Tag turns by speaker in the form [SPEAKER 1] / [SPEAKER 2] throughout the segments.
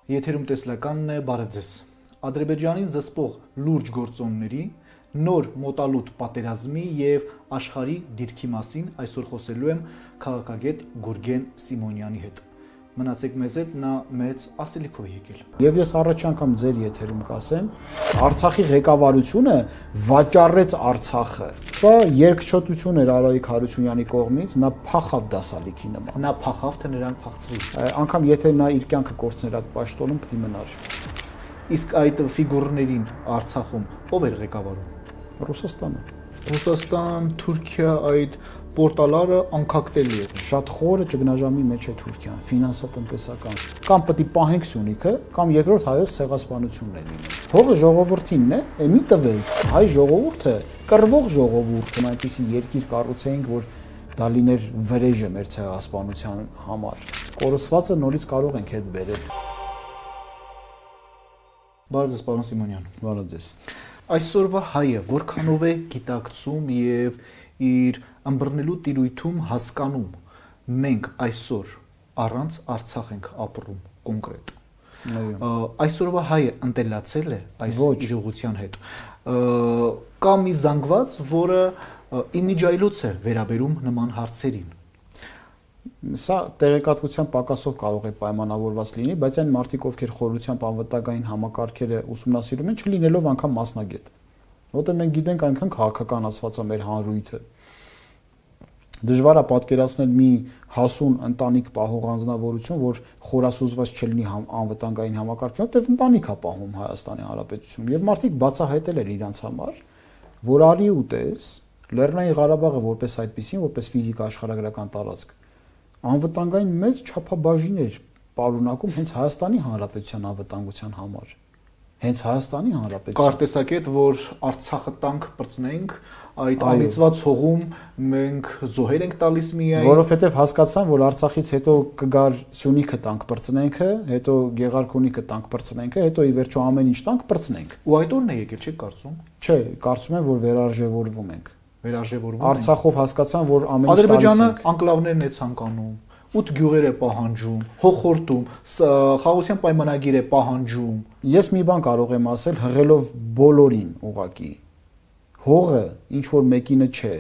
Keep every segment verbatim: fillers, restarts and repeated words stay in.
[SPEAKER 1] Եթերում տեսլականն է, բարև ձեզ։ Ադրբեջանին զսպող լուրջ գործոնների, նոր մոտալուտ պատերազմի եւ աշխարհի դիրքի մասին այսօր խոսելու եմ քաղաքագետ Գուրգեն Սիմոնյանի հետ։ Մնացեք մեզ հետ, նա մեծ ասելիքով է եկել։
[SPEAKER 2] Եվ ես առաջ անգամ ձեր եթերում կասեմ, Արցախի ղեկավարությունը վաճառեց Արցախը։ Սա երկչոտություն էր Արայիկ Հարությունյանի կողմից, նա փախավ դասալիքի նման։
[SPEAKER 1] Նա փախավ, թե նրան փախցրի։
[SPEAKER 2] Անկամ եթե նա իր կյանքը կորցներ այդ պաշտոնում, պետք է մնար։
[SPEAKER 1] Իսկ այդ ֆիգուրներին Արցախում ով էր ղեկավարում։
[SPEAKER 2] Ռուսաստանը։
[SPEAKER 1] Ռուսաստան, Թուրքիա, այդ պորտալարը անկակտելի է։
[SPEAKER 2] Շատ խորը ճգնաժամի մեջ է Թուրքիան, ֆինանսատնտեսական։ Կամ պետք է պահենք Սյունիքը, կամ երկրորդ հայոց ցեղասպանությունն է լինում։ Հողը ժողովրդինն է, է մի տվեք, հայ ժողովուրդը, կռվող ժողովուրդը, այնպիսի երկիր կառուցեինք, որ դա լիներ վրեժը մեր ցեղասպանության համար։ Կորսվածը նորից կարող ենք հետ բերել։
[SPEAKER 1] Բարև ձեզ, պարոն Սիմոնյան։
[SPEAKER 2] Բարև ձեզ։
[SPEAKER 1] Այսօրվա հայը որքանով է գիտակցում եւ իր ըմբռնելու տիրույթում հասկանում մենք այսօր առանց Արցախ ենք ապրում կոնկրետ։ Այսօրվա հայը ընտելացել է այս իրողության հետ։ Կա մի զանգված, որը իմիջայլոց է վերաբերում նման հարցերին։
[SPEAKER 2] Սա տեղեկատվության պակասով կարող է պայմանավորված լինի, բայց այն մարդիկ, ովքեր խորությամբ անվտանգային համակարգերը ուսումնասիրում են, չլինելով անգամ մասնագետ։ Որտեղ մենք գիտենք այնքան քաղաքականացված է մեր հանրույթը։ Դժվար է պատկերացնել մի հասուն ընտանիք պահող անձնավորություն, որ խորասուզված չլինի անվտանգային համակարգի, որտեղ ընտանիք է պահում Հայաստանի Հանրապետությունում։ Եվ մարդիկ բացահայտել են իրենց համար, որ արի ու տես Լեռնային Ղարաբաղը որպես այդպեսին, որպես ֆիզիկա աշխարհագրական տարածք, անվտանգային մեծ չափաբաժին էր պարունակում հենց Հայաստանի Հանրապետության անվտանգության համար։ Հենց Հայաստանի Հանրապետության։
[SPEAKER 1] Կարտեսակետ, որ Արցախը տանկ բրցնենք, այդ անիծված հողում մենք զոհեր ենք տալիս միայն,
[SPEAKER 2] որովհետև հասկացան, որ Արցախից հետո կգար Սյունիքը տանկ բրցնենքը, հետո Գեղարքունիքը տանկ բրցնենքը, հետո ի վերջո ամեն ինչ տանկ բրցնենք։
[SPEAKER 1] Ու այդ օրն է եկել, չէ՞ կարծում։
[SPEAKER 2] Չէ, կարծում եմ, որ վերարժևորվում ենք։
[SPEAKER 1] Վերարժևորվում ենք։
[SPEAKER 2] Արցախով հասկացան, որ ամեն ինչ
[SPEAKER 1] Ադրբեջանը անկլավներն է ցանկանում, ութ գյուղեր է պահանջում, հողորտում, խաղաղության պայմանագիր է պահանջում։
[SPEAKER 2] Ես մի բան կարող եմ ասել հղելով բոլորին ուղակի։ Հողը ինչ որ մեկինը չէ,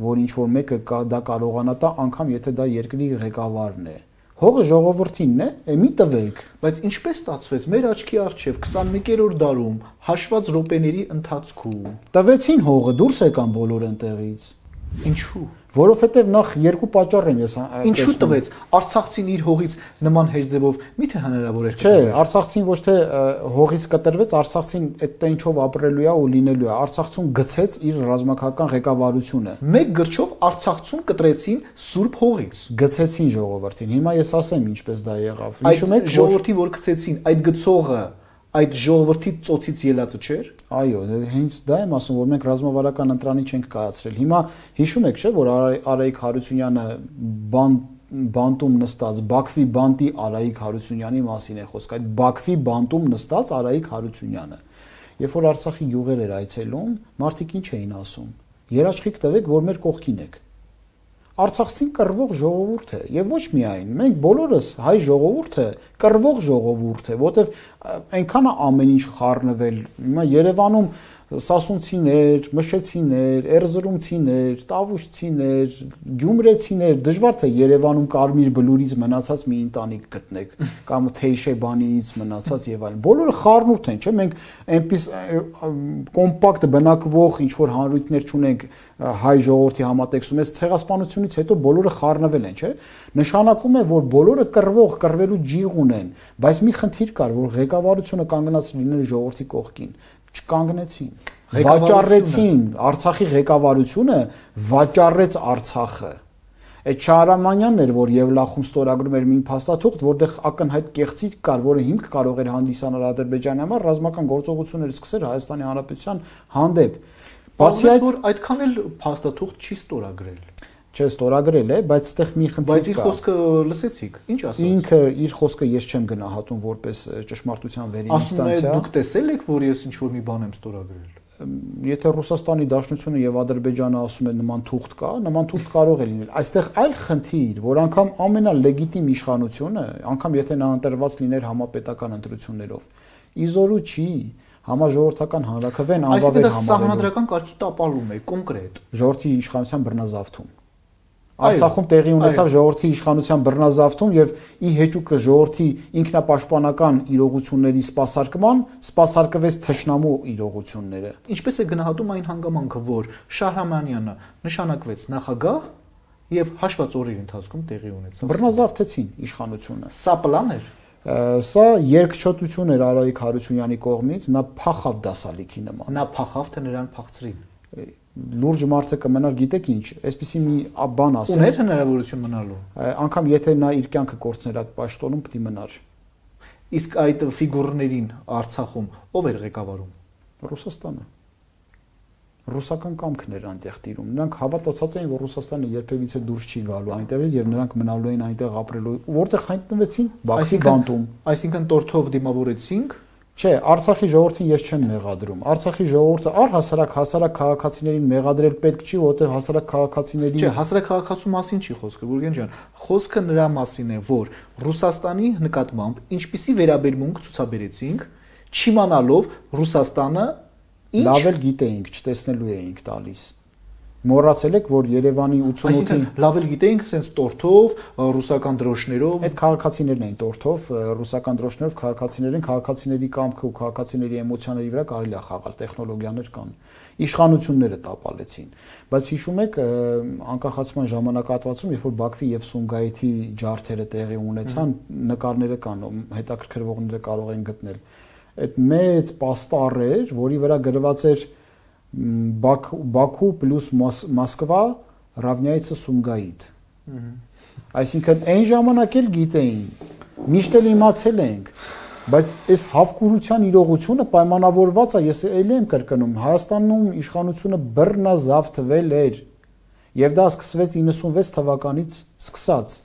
[SPEAKER 2] որ ինչ որ մեկը դա կարողանա տա, անգամ եթե դա երկրի ղեկավարն է։ Հողը ժողովրդինն է, է մի տվեք,
[SPEAKER 1] բայց ինչպես ստացվեց մեր աչքի առջև քսանմեկերորդ դարում հաշված րոպեների ընթացքում
[SPEAKER 2] տվեցին հողը, դուրս եկան բոլոր ընտեղից։
[SPEAKER 1] Ինչու՞։
[SPEAKER 2] Որովհետև նախ երկու պատճառ եմ ես
[SPEAKER 1] Ինչու տվեց Արցախցին իր հողից նման հեշտ ձևով միթե հնարավոր էր։
[SPEAKER 2] Չէ, Արցախցին ոչ թե հողից կտրվեց, Արցախցին այդ տենչով ապրելու է ու լինելու է։ Արցախցուն գցեց իր ռազմական ղեկավարությունը։
[SPEAKER 1] Մեկ գրչով Արցախցուն կտրեցին սուրբ հողից։
[SPEAKER 2] Գցեցին ժողովրդին։ Հիմա ես ասեմ ինչպես դա եղավ։
[SPEAKER 1] Հիշում եք ժողովրդի որ գցեցին, այդ գցողը այդ ժողովրդի ծոցից ելածը չէր։
[SPEAKER 2] Այո, հենց դա եմ ասում, որ մենք ռազմավարական ընտրանի չենք կայացրել։ Հիմա հիշում եք, չէ՞, որ Արայիկ Հարությունյանը բան բանտում նստած Բաքվի բանտի Արայիկ Հարությունյանի մասին է խոսք։ Այդ Բաքվի բանտում նստած Արայիկ Հարությունյանը։ Երբ որ Արցախի յուղեր էր այցելում, մարդիկ ինչ էին ասում։ Երաշխիք տվեք, որ մեր կողքին եք։ Արցախցին կռվող ժողովուրդ է եւ ոչ միայն մենք բոլորս հայ ժողովուրդը կռվող ժողովուրդ է, որտեվ այնքան է ամեն ինչ խառնվել։ Հիմա Երևանում սասունցիներ, մշեցիներ, էրզրումցիներ, տավուշցիներ, գյումրեցիներ, դժվար թե Երևանում Կարմիր բլուրից մնացած մի ընտանիք գտնեք կամ Թեյշեբանից մնացած եւ այլն։ Բոլորը խառնուրդ են, չէ՞, մենք այնպես կոմպակտ բնակվող ինչ որ հանրույթներ չունենք հայ ժողովրդի համատեքստում, այս ցեղասպանությունից հետո բոլորը խառնվել են, չէ՞։ Նշանակում է, որ բոլորը կռվող, կռվելու ջիղ ունեն, բայց մի խնդիր կար, որ ղեկավարությունը կանգնած լինել ժողովրդի կողքին։ Չկանգնեցին, վաճառեցին Արցախի ղեկավարությունը, վաճառեց Արցախը։ Այդ Շահրամանյանն էր, որ Եվլախում ստորագրում էր մի փաստաթուղթ, որտեղ ակնհայտ կեղծիք կար, որը հիմք կարող էր հանդիսանալ Ադրբեջանի համար ռազմական գործողություններ սկսել Հայաստանի Հանրապետության հանդեպ։
[SPEAKER 1] Բացի այդ, որ այդքան էլ փաստաթուղթ չի ստորագրել։
[SPEAKER 2] Չէ, ստորագրել է, բայց այդտեղ մի խնդիր կա։
[SPEAKER 1] Բայց իր խոսքը լսեցիք, ինչ ասաց։
[SPEAKER 2] Ինքը իր խոսքը ես չեմ գնահատում որպես ճշմարտության վերին ինստանցիա։
[SPEAKER 1] Ասում է, դուք տեսել եք, որ ես ինչ որ մի բան եմ ստորագրել։
[SPEAKER 2] եթե Ռուսաստանի Դաշնությունը եւ Ադրբեջանը ասում են նման թուղթ կա, նման թուղթ կարող է լինել։ Այստեղ այլ խնդիր, որ անգամ ամենալեգիտիմ իշխանությունը, անգամ եթե նա ընտրված լիներ համապետական ընտրություններով, իզորու չի համաժողովրդական հանրաքվեն անվավեր համարելու։
[SPEAKER 1] Այսինքն դա սահմանադրական կարգի տապալում է կոնկրետ։
[SPEAKER 2] Ժողովրդի իշխանության բռնազավթում։ Արցախում տեղի ունեցավ ժողովրդի իշխանության բռնազավթում եւ ի հեճուկը ժողովրդի ինքնապաշտպանական իրողությունների սպասարկման սպասարկվեց թշնամու իրողությունները։
[SPEAKER 1] Ինչպես է գնահատում այն հանգամանքը, որ Շահրամանյանը նշանակվեց նախագահ եւ հաշված օրերի ընթացքում տեղի ունեցավ։
[SPEAKER 2] Բռնազավթեցին իշխանությունը։
[SPEAKER 1] Սա պլան էր։
[SPEAKER 2] Սա երկչոտություն էր Արայիկ Հարությունյանի կողմից, նա փախավ դասալիքի նման։
[SPEAKER 1] Նա փախավ, թե նրան փախցրին։
[SPEAKER 2] Լուրջ մարդը կմնար, գիտեք ինչ, այսպեսի մի բան ասեմ։
[SPEAKER 1] Ուներ հնարավորություն մնալու։
[SPEAKER 2] Անկամ եթե նա իր կյանքը կորցներ այդ պաշտոնում, պետք է մնար։
[SPEAKER 1] Իսկ այդ ֆիգուրներին Արցախում ով էր ղեկավարում։
[SPEAKER 2] Ռուսաստանը։ Ռուսական կամքն էր այնտեղ տիրում։ Նրանք հավատացած էին, որ Ռուսաստանը երբևիցե դուրս չի գալու այնտեղից եւ նրանք մնալու են այնտեղ ապրելու։ Որտեղ հայտնվեցին Բաքվի բանտում։
[SPEAKER 1] Այսինքն տորթով դիմավորեցինք։
[SPEAKER 2] Չէ, Արցախի ժողովրդին ես չեմ մեղադրում։ Արցախի ժողովուրդը առհասարակ հասարակ քաղաքացիներին մեղադրել պետք չի, որտեղ հասարակ քաղաքացիների
[SPEAKER 1] Չէ, հասարակ քաղաքացու մասին չի խոսքը, Գուրգեն ջան։ Խոսքը նրա մասին է, որ Ռուսաստանի նկատմամբ ինչպիսի վերաբերմունք ցուցաբերեցինք, չիմանալով Ռուսաստանը ինչ
[SPEAKER 2] լավ էլ գիտեինք, չտեսնելու էինք տալիս։ Մոռացել եք, որ Երևանի ութսունութի
[SPEAKER 1] լավ էլ գիտեինք, sense տորթով, ռուսական դրոշներով,
[SPEAKER 2] այդ քաղաքացիներն էին տորթով, ռուսական դրոշներով քաղաքացիներ են, քաղաքացիների կամքը ու քաղաքացիների էմոցիաների վրա կարելի է խաղալ, տեխնոլոգիաներ կան։ Իշխանությունները տապալեցին։ Բայց հիշում եք, անկախացման ժամանակահատվածում, երբ որ Բաքվի եւ Սումգայիթի ջարդերը տեղի ունեցան, նկարները կան, հետաքրքրվողները կարող են գտնել։ Այդ մեծ պաստառ էր, որի վրա գրված էր Բաքու պլյուս Մոսկվա равняется Սումգայիթ։ Այսինքն այն ժամանակ էլ գիտեին, միշտ էլ իմացել ենք, բայց այս հավկուրության իրողությունը պայմանավորված է, ես էլ եմ կրկնում, Հայաստանում իշխանությունը բռնազավթվել էր եւ դա սկսվեց իննսունվեց թվականից սկսած։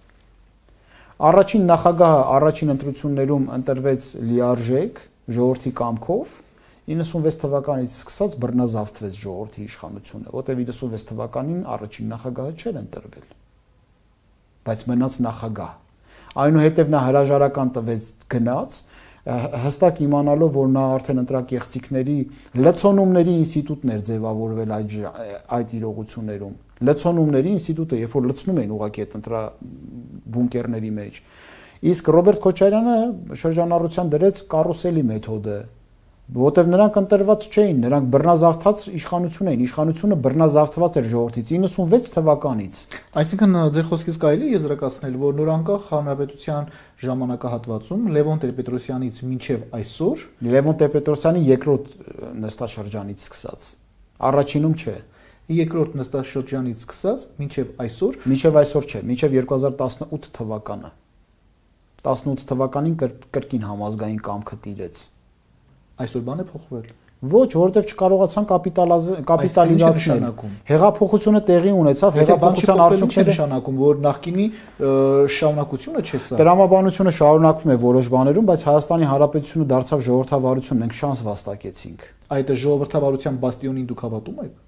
[SPEAKER 2] Առաջին նախագահը առաջին ընտրություններում ընտրվեց լիարժեք ժողովրդի կամքով, իննսունվեց թվականից սկսած բռնազավթվեց ժողովրդի իշխանությունը, որտեղ իննսունվեց թվականին առաջին նախագահը չէր ընտրվել, բայց մնաց նախագահ։ Այնուհետև նա հրաժարական տվեց գնաց, հստակ իմանալով, որ նա արդեն ընտրակեղծիքների լցոնումների ինստիտուտն էր ձևավորվել այդ այդ իրողություններում։ Լցոնումների ինստիտուտը, երբ որ լցնում էին ուղղակի այդ ընտրա բունկերների մեջ։ Իսկ Ռոբերտ Քոչարյանը շրջանառության դրեց կարուսելի մեթոդը, որտեվ նրանք ընտրված չէին, նրանք բռնազավթած իշխանություն էին, իշխանությունը բռնազավթված էր ժողովրդից իննսունվեց թվականից։
[SPEAKER 1] Այսինքն ձեր խոսքից կարելի է եզրակացնել, որ նորանկախ հանրապետության ժամանակահատվածում Լևոն Տեր-Պետրոսյանից մինչև այսօր,
[SPEAKER 2] Լևոն Տեր-Պետրոսյանի երկրորդ նստաշրջանից սկսած, առաջինում չէ,
[SPEAKER 1] երկրորդ նստաշրջանից սկսած մինչև այսօր,
[SPEAKER 2] մինչև այսօր չէ, մինչև երկու հազար տասնութ թվականը։ տասնութ թվականին կրկին համազգային կամքը տիրեց։
[SPEAKER 1] Այսօր բան է փոխվել։
[SPEAKER 2] Ոչ, որովհետև չկարողացան կապիտալիզացնել։ Հեղափոխությունը տեղի ունեցավ, հեղափոխության արդյունքները
[SPEAKER 1] նշանակում, որ նախկինի շարունակությունը չէ սա։
[SPEAKER 2] Տրամաբանությունը շարունակվում է որոշ բաներում, բայց Հայաստանի Հանրապետությունը դարձավ ժողովրդավարություն, մենք շանս վաստակեցինք։
[SPEAKER 1] Այդ ժողովրդավարության բաստիոնին դուք հավատում եք։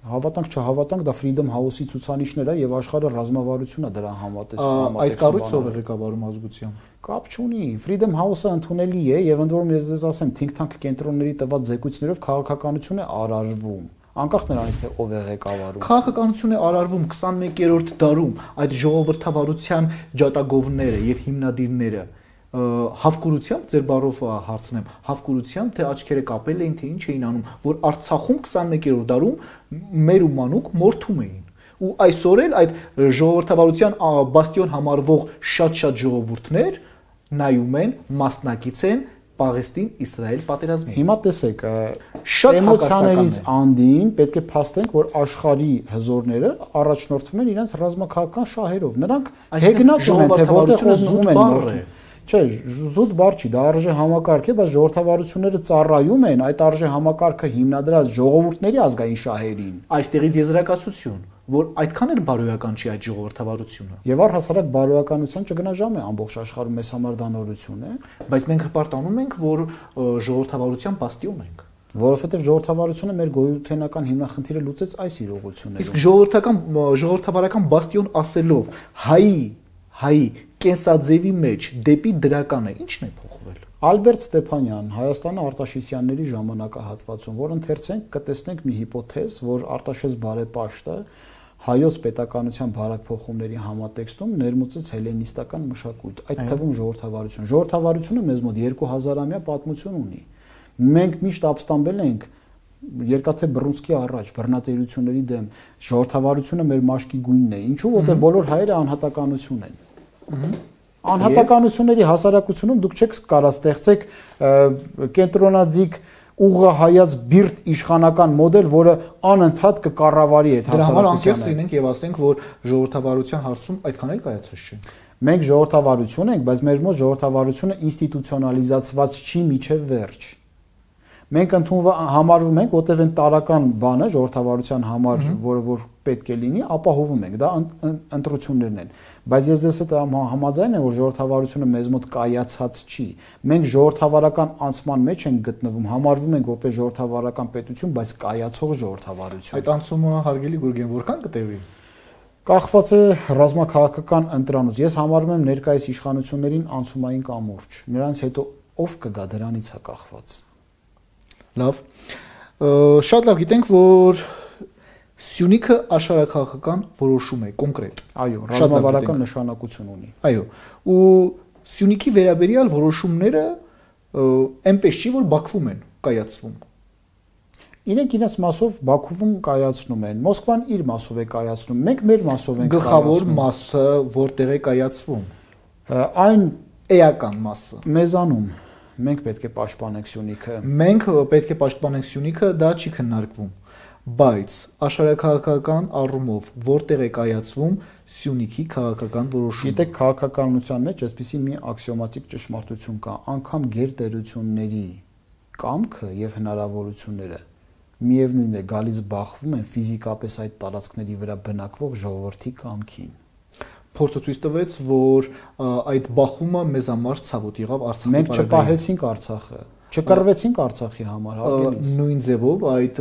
[SPEAKER 2] Հավատանք չհավատանք, դա Freedom House-ի ցուցանիշներ է եւ աշխարհը ռազմավարություն է դրան համատեսում։
[SPEAKER 1] Այդ կառույցը ով է ղեկավարում ազգությամբ։
[SPEAKER 2] Կապ չունի։ Freedom House-ը ընդունելի է եւ ընդ որում ես ձեզ ասեմ, think tank կենտրոնների տված զեկույցներով քաղաքականություն է արարվում։ Անկախ նրանից թե ով է ղեկավարում։
[SPEAKER 1] Քաղաքականություն է արարվում քսաներկերորդ դարում այդ ժողովրդավարության ջատագովները եւ հիմնադիրները հավկուրությամբ ձեր բառով հարցնեմ, հավկուրությամբ թե աչքերը կապել էին, թե ինչ էին անում, որ Արցախում քսաներկերորդ դարում մեր ու մանուկ մորթում էին։ Ու այսօր էլ այդ ժողովրդավարության բաստիոն համարվող շատ-շատ ժողովուրդներ նայում են, մասնակից են Պաղեստին-Իսրայել պատերազմին։
[SPEAKER 2] Հիմա տեսեք, շատ էմոցիաներից անդին պետք է փաստենք, որ աշխարհի հզորները առաջնորդվում են իրենց ռազմաքաղաքական շահերով։ Նրանք հեգնած ունեն, թե որտեղ ուզում են մորթում։ Չէ, զուտ բառ չի, դա արժե համակարգ է, բայց ժողովրդավարությունները ծառայում են այդ արժե համակարգը հիմնադրած ժողովուրդների ազգային շահերին։
[SPEAKER 1] Այստեղից եզրակացություն, որ այդքան էլ բարոյական չի այդ ժողովրդավարությունը։
[SPEAKER 2] Եվ առհասարակ բարոյականության չգնա ժամ է ամբողջ աշխարհում, մեզ համար դա նորություն է,
[SPEAKER 1] բայց մենք հպարտանում ենք, որ ժողովրդավարության բաստիոն ենք։
[SPEAKER 2] Որովհետև ժողովրդավարությունը մեր գոյութենական հիմնախնդիրը լուծեց այս իրողություններում։
[SPEAKER 1] Իսկ ժողովրդական ժողովրդավարական բաստիոն ասելով հայի հայի կենսաձևի մեջ դեպի դրականը ի՞նչն է փոխվել։
[SPEAKER 2] Ալբերտ Ստեփանյան, Հայաստանը Արտաշեսյանների ժամանակահատվածում, որ ընթերցենք կտեսնենք մի հիպոթեզ, որ Արտաշես բարեպաշտը հայոց պետականության բարեփոխումների համատեքստում ներմուծեց հելենիստական մշակույթ, այդ թվում ժողովրդավարություն։ Ժողովրդավարությունը մեզ մոտ երկու հազարամյա պատմություն ունի։ Մենք միշտ ապստամբել ենք երկաթե Բռունսկի առաջ բռնատիրությունների դեմ, ժողովրդավարությունը մեր մաշկի գույնն է։ Ինչու՞, որտեղ բոլոր հայերը անհատականություն են։ Անհատականությունների հասարակությունում դուք չեք կարող ստեղծեք կենտրոնաձիգ ուղղահայաց բիրտ իշխանական մոդել, որը անընդհատ կկառավարի այդ
[SPEAKER 1] հասարակությանը։ Դրա համար անկեղծ լինենք եւ ասենք, որ ժողովրդավարության հարցում այդքան էլ կայացած չէ։
[SPEAKER 2] Մենք ժողովրդավարություն ենք, բայց մեր մոտ ժողովրդավարությունը ինստիտուցիոնալիզացված չի միջև վերջ։ Մենք ընդունվում համարվում ենք, որտեղ այն տարական բանը ժողովրդավարության համար, որը որ պետք է լինի, ապահովում ենք, դա ընտրություններն են։ Բայց ես դες հետ համաձայն եմ, որ ժողովրդավարությունը մեզ մոտ կայացած չի։ Մենք ժողովրդավարական անցման մեջ ենք գտնվում, համարվում ենք որպես ժողովրդավարական պետություն, բայց կայացող ժողովրդավարություն։
[SPEAKER 1] Այդ անցումը հարգելի Գուրգեն որքան կտևի։
[SPEAKER 2] Կախված է ռազմաքաղաքական ընտրանուց։ Ես համարում եմ ներկայիս իշխանություններին անցումային կամուրջ։ Նրանց հետո ով կգա դրանից է կախված։
[SPEAKER 1] Լավ, շատ լավ գիտենք, որ Սյունիքը աշխարհաքաղաքական որոշում է կոնկրետ։
[SPEAKER 2] Այո, ռազմավարական նշանակություն ունի։
[SPEAKER 1] Այո, ու Սյունիքի վերաբերյալ որոշումները այնպես չի, որ Բաքվում են կայացվում։
[SPEAKER 2] Իրենք իրենց մասով Բաքվում կայացնում են, Մոսկվան իր մասով է կայացնում, մենք մեր մասով ենք կայացնում։
[SPEAKER 1] Գլխավոր մասը որտեղ է կայացվում։
[SPEAKER 2] Այն
[SPEAKER 1] էական մասը։
[SPEAKER 2] Մեզանում մենք պետք է պաշտպանենք Սյունիքը։
[SPEAKER 1] Մենք պետք է պաշտպանենք Սյունիքը, դա չի քննարկվում, բայց աշխարհաքաղաքական առումով որտեղ է կայացվում Սյունիքի քաղաքական որոշումը։
[SPEAKER 2] Գիտեք, քաղաքականության մեջ այսպիսի մի աքսիոմատիկ ճշմարտություն կա, անգամ գերտերությունների կամքը եւ հնարավորությունները միևնույն է գալիս բախվում են ֆիզիկապես այդ տարածքների վրա բնակվող ժողովրդի կամքին։
[SPEAKER 1] Փորձը ցույց տվեց, որ այդ բախումը մեզ համար ցավոտ եղավ Արցախի
[SPEAKER 2] Մենք չպահեցինք Արցախը, չկռվեցինք Արցախի համար, հարգելիս։
[SPEAKER 1] Նույն ձևով այդ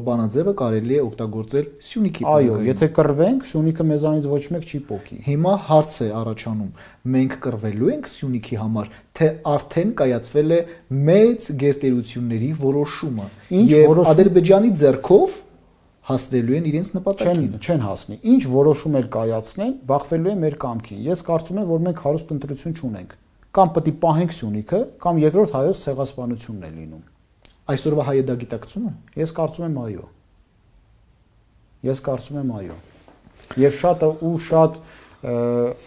[SPEAKER 1] բանաձևը կարելի է օգտագործել Սյունիքի
[SPEAKER 2] համար։ Այո, եթե կռվենք, Սյունիքը մեզանից ոչ մեկ չի պոկի։
[SPEAKER 1] Հիմա հարց է առաջանում. մենք կռվելու ենք Սյունիքի համար, թե արդեն կայացվել է մեծ գերտերությունների որոշումը, եւ Ադրբեջանի ձեռքով հասնելու են իրենց նպատակին։
[SPEAKER 2] Չեն չեն հասնի։ Ինչ որոշում էլ կայացնեն, բախվելու է մեր կամքին։ Ես կարծում եմ, որ մենք հարուստ ընտրություն չունենք։ Կամ պետք է պահենք Սյունիքը, կամ երկրորդ հայոց ցեղասպանությունն է լինում։
[SPEAKER 1] Այսօրվա հայը դա գիտակցում է։
[SPEAKER 2] Ես կարծում եմ այո։ Ես կարծում եմ այո։ Եվ շատ ու շատ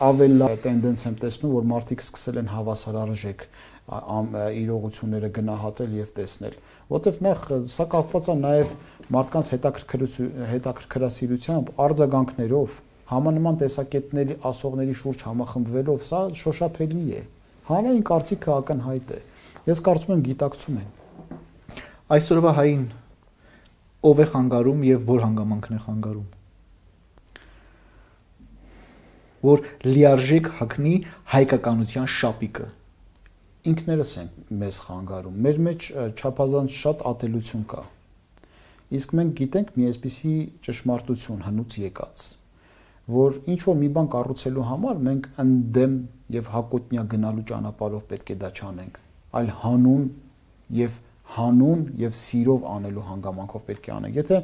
[SPEAKER 2] ավելի տենդենց եմ տեսնում, որ մարդիկ սկսել են հավասարարժեք իրողությունները գնահատել եւ տեսնել, որտեվ նախ սա կապված է նաեւ մարդկանց հետաքրքրասիրությամբ, արձագանքներով, համանման տեսակետների ասողների շուրջ համախմբվելով, սա շոշափելի է։ Հանրային կարծիքը ակնհայտ է։ Ես կարծում եմ գիտակցում են։
[SPEAKER 1] Այսօրվա հային ով է խանգարում եւ որ հանգամանքն է խանգարում։ Որ լիարժեք հագնի հայկականության շապիկը։
[SPEAKER 2] Ինքներս ենք մեզ խանգարում։ Մեր մեջ չափազանց շատ ատելություն կա։ Իսկ մենք գիտենք մի այսպիսի ճշմարտություն հնուց եկած, որ ինչ որ մի բան կառուցելու համար մենք ընդդեմ եւ հակոտնյա գնալու ճանապարհով պետք է դա չանենք, այլ հանուն եւ հանուն եւ սիրով անելու հանգամանքով պետք է անենք։ Եթե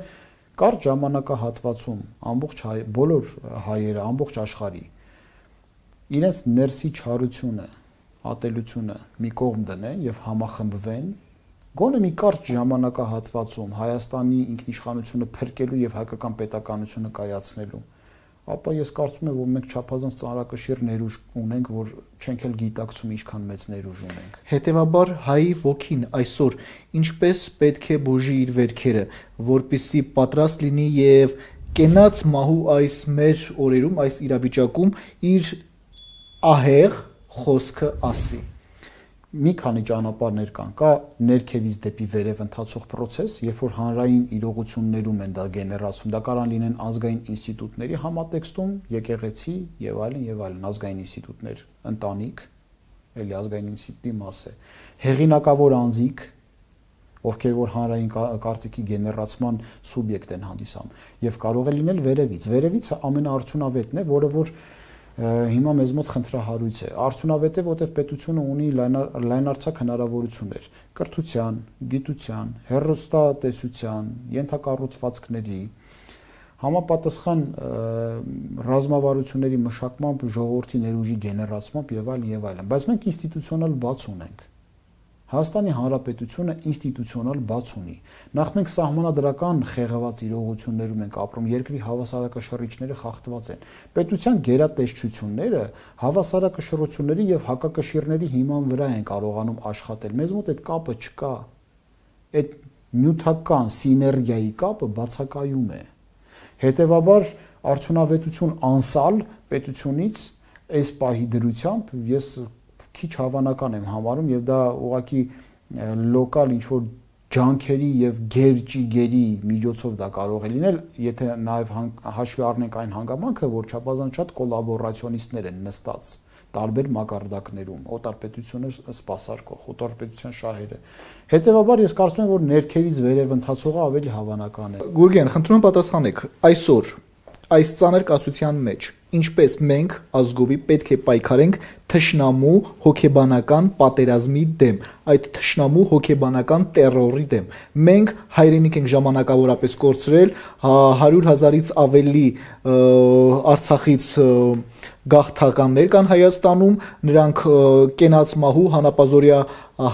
[SPEAKER 2] կարճ ժամանակահատվածում ամբողջ հայ, բոլոր հայերը, ամբողջ աշխարհի իրենց ներսի չարությունը, ատելությունը մի կողմ դնեն եւ համախմբվեն, գոնե մի կարճ ժամանակահատվածում Հայաստանի ինքնիշխանությունը փրկելու եւ հայկական պետականությունը կայացնելու, ապա ես կարծում եմ, որ մենք չափազանց ծանրակշիռ ներուժ ունենք, որ չենք էլ գիտակցում ինչքան մեծ ներուժ ունենք։
[SPEAKER 1] Հետևաբար հայի ոգին այսօր ինչպես պետք է բուժի իր վերքերը, որպեսզի պատրաստ լինի եւ կենաց մահու այս մեր օրերում, այս իրավիճակում իր ահեղ խոսքը ասի։
[SPEAKER 2] Մի քանի ճանապարհներ կան, կա ներքևից դեպի վերև ընթացող process, երբ որ հանրային իրողություններում են դա գեներացում, դա կարող լինեն ազգային ինստիտուտների համատեքստում, եկեղեցի եւ այլն եւ այլն ազգային ինստիտուտներ, ընտանիք, էլի ազգային ինստիտուտի մաս է, հեղինակավոր անձիկ, ովքեր որ հանրային կարծիքի գեներացման սուբյեկտ են հանդիսանում, եւ կարող է լինել վերևից։ Վերևից ամենաարդյունավետն է, որը որ հիմա մեզ մոտ խնդրահարույց է։ Արդյունավետ է, որտեղ պետությունը ունի լայնարձակ հնարավորություններ կրթության, գիտության, հեռուստատեսության, ենթակառուցվածքների, համապատասխան ռազմավարությունների մշակմամբ, ժողովրդի ներուժի գեներացմամբ եւ այլն եւ այլն։ Բայց մենք ինստիտուցիոնալ բաց ունենք։ Հայաստանի Հանրապետությունը ինստիտուցիոնալ բաց ունի։ Նախ մենք սահմանադրական խեղված իրողություններում ենք ապրում, երկրի հավասարակշռիչները խախտված են։ Պետության գերատեսչությունները հավասարակշռությունների եւ հակակշիռների հիման վրա են կարողանում աշխատել։ Մեզ մոտ այդ կապը չկա։ Այդ նյութական սիներգիայի կապը բացակայում է։ Հետևաբար արդյունավետություն անսալ պետությունից այս պահի դրությամբ ես քիչ հավանական եմ համարում եւ դա ուղղակի լոկալ ինչ որ ջանքերի եւ գերճիգերի միջոցով դա կարող է լինել, եթե նաեւ հաշվի առնենք այն հանգամանքը, որ չափազանց շատ կոլաբորացիոնիստներ են նստած տարբեր մակարդակներում, օտարպետությունը սպասարկող, օտարպետության շահերը։ Հետևաբար ես կարծում եմ, որ ներքևից վերև ընթացողը ավելի հավանական է։
[SPEAKER 1] Գուրգեն, խնդրում եմ պատասխանեք, այսօր այս ծանր կացության մեջ ինչպես մենք ազգովի պետք է պայքարենք թշնամու հոգեբանական պատերազմի դեմ, այդ թշնամու հոգեբանական տերորի դեմ։ Մենք հայրենիք ենք ժամանակավորապես կորցրել, հարյուր հազարից ավելի Արցախից գաղթականներ կան Հայաստանում, նրանք կենաց մահու հանապազորյա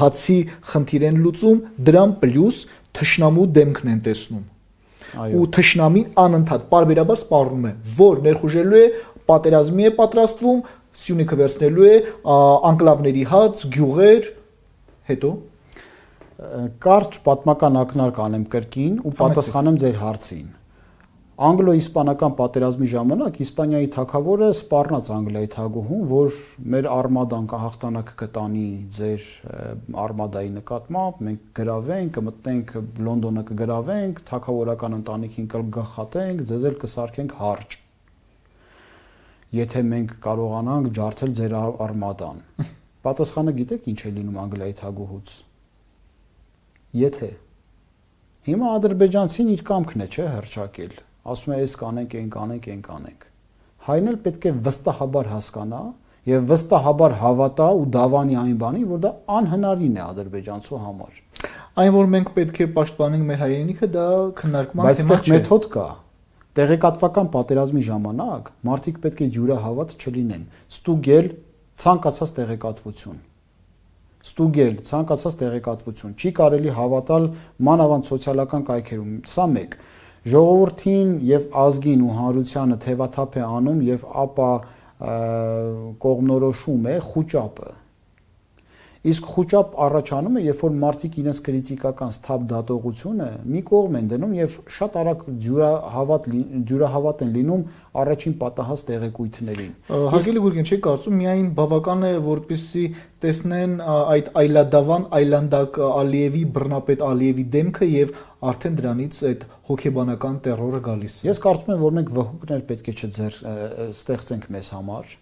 [SPEAKER 1] հացի խնդիր են լուծում, դրան պլյուս թշնամու դեմքն են տեսնում։ Ու թշնամին անընդհատ պարբերաբար սպառնում է, որ ներխուժելու է, պատերազմի է պատրաստվում, Սյունիքը վերցնելու է, անկլավների հաց, գյուղեր, հետո
[SPEAKER 2] կարճ պատմական ակնարկ անեմ կրկին ու պատասխանեմ ձեր հարցին։ Անգլո-իսպանական պատերազմի ժամանակ Իսպանիայի թագավորը սպառնաց Անգլիայի թագուհուն, որ մեր արմադան կհաղթանակ կտանի ձեր արմադայի նկատմամբ, մենք գրավենք, կմտնենք Լոնդոնը կգրավենք, թագավորական ընտանիքին կգլխատենք, ձեզ էլ կսարքենք հարճ։ Եթե մենք կարողանանք ջարդել ձեր արմադան։ Պատասխանը գիտեք ինչ է լինում Անգլիայի թագուհուց։ Եթե հիմա ադրբեջանցին իր կամքն է, չէ, հռչակել։ Ասում է, այս կանենք, այն կանենք, այն կանենք։ Հայն էլ պետք է վստահաբար հասկանա եւ վստահաբար հավատա ու դավանի այն բանին, որ դա անհնարին է ադրբեջանցու համար։
[SPEAKER 1] Այն, որ մենք պետք է պաշտպանենք մեր հայրենիքը, դա քննարկման
[SPEAKER 2] թեմա չէ։ Բայց այդտեղ մեթոդ կա։ Տեղեկատվական պատերազմի ժամանակ մարդիկ պետք է յուրահավատ չլինեն, ստուգել ցանկացած տեղեկատվություն։ Ստուգել ցանկացած տեղեկատվություն։ Չի կարելի հավատալ մանավանդ սոցիալական կայքերում։ Սա մեկ։ Ժողովրդին եւ ազգին ու հանրությանը թևաթափ է անում եւ ապա կողմնորոշում է խուճապը։ Իսկ խուճապ առաջանում է, երբ որ մարդիկ իրենց քրիտիկական սթափ դատողությունը մի կողմ են դնում եւ շատ արագ ջուրահավատ ջուրահավատ են լինում առաջին պատահած տեղեկույթներին։
[SPEAKER 1] Հարգելի Գուրգեն, չի կարծում միայն բավական է, որպեսզի տեսնեն այդ այլադավան այլանդակ Ալիևի բռնապետ Ալիևի դեմքը եւ արդեն դրանից այդ հոգեբանական տերորը գալիս է։
[SPEAKER 2] Ես կարծում եմ, որ մենք վհուկներ պետք է չձեր ստեղծենք մեզ համար։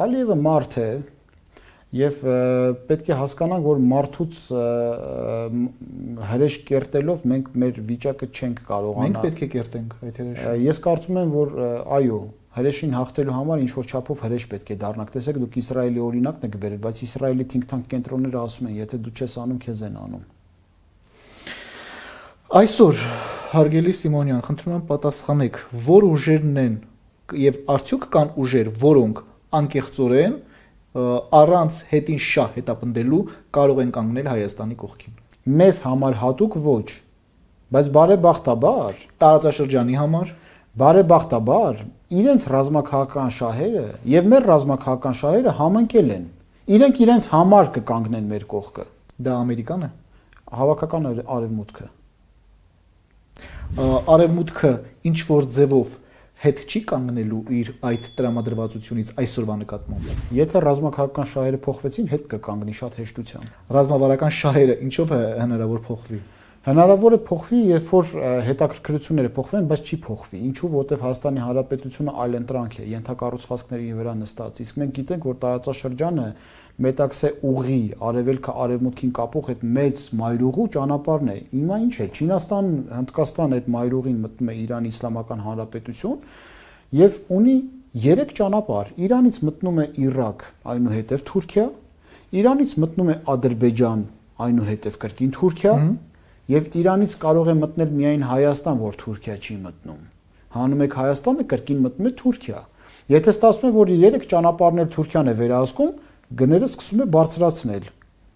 [SPEAKER 2] Ալիևը մարդ է եւ պետք է հասկանանք, որ մարդուց հրեշ կերտելով մենք մեր վիճակը չենք կարողանա։
[SPEAKER 1] Մենք պետք է կերտենք այդ հրեշը։
[SPEAKER 2] Ես կարծում եմ, որ այո, հրեշին հաղթելու համար ինչ որ չափով հրեշ պետք է դառնանք։ Տեսեք, դուք Իսրայելի օրինակն եք բերել, բայց Իսրայելի think tank կենտրոնները ասում են, եթե դու չես անում, քեզ են անում։
[SPEAKER 1] Այսօր, հարգելի Սիմոնյան, խնդրում եմ պատասխանեք, որ ուժերն են եւ արդյոք կան ուժեր, որոնք անկեղծորեն առանց հետին շահ հետապնդելու կարող են կանգնել Հայաստանի կողքին։
[SPEAKER 2] Մեզ համար հատուկ ոչ, բայց բարեբախտաբար
[SPEAKER 1] տարածաշրջանի համար,
[SPEAKER 2] բարեբախտաբար իրենց ռազմաքաղաքական շահերը եւ մեր ռազմաքաղաքական շահերը համընկել են։ Իրենք իրենց համար կկանգնեն մեր կողքը։
[SPEAKER 1] Դա Ամերիկան է,
[SPEAKER 2] հավաքական արևմուտքը։
[SPEAKER 1] Արևմուտքը ինչ որ ձևով հետ չի կանգնելու իր այդ տրամադրվածությունից այսօրվա նկատմամբ։
[SPEAKER 2] Եթե ռազմաքաղաքական շահերը փոխվեցին, հետ կկանգնի շատ հեշտությամբ։
[SPEAKER 1] Ռազմավարական շահերը ինչով է հնարավոր փոխվի։
[SPEAKER 2] Հնարավոր է փոխվի, երբ որ հետաքրքրությունները փոխվեն, բայց չի փոխվի։ Ինչու, որովհետև Հայաստանի Հանրապետությունը այլընտրանք է, ենթակառուցվածքների վրա նստած։ Իսկ մենք գիտենք, որ տարածաշրջանը Մետաքսե ուղի արևելքը արևմուտքին կապող այդ մեծ մայրուղու ճանապարհն է։ Հիմա ինչ է, Չինաստան, Հնդկաստան այդ մայրուղին մտնում է Իրանի Իսլամական Հանրապետություն եւ ունի երեք ճանապարհ։ Իրանից մտնում է Իրաք, այնուհետև Թուրքիա, Իրանից մտնում է Ադրբեջան, այնուհետև կրկին Թուրքիա, եւ Իրանից կարող է մտնել միայն Հայաստան, որ Թուրքիա չի մտնում։ Հանում եք Հայաստանը, կրկին մտնում է Թուրքիա։ Եթե ստացվում է, որ երեք ճանապարհներ Թուրքիան է վերահսկում, գները սկսում է բարձրացնել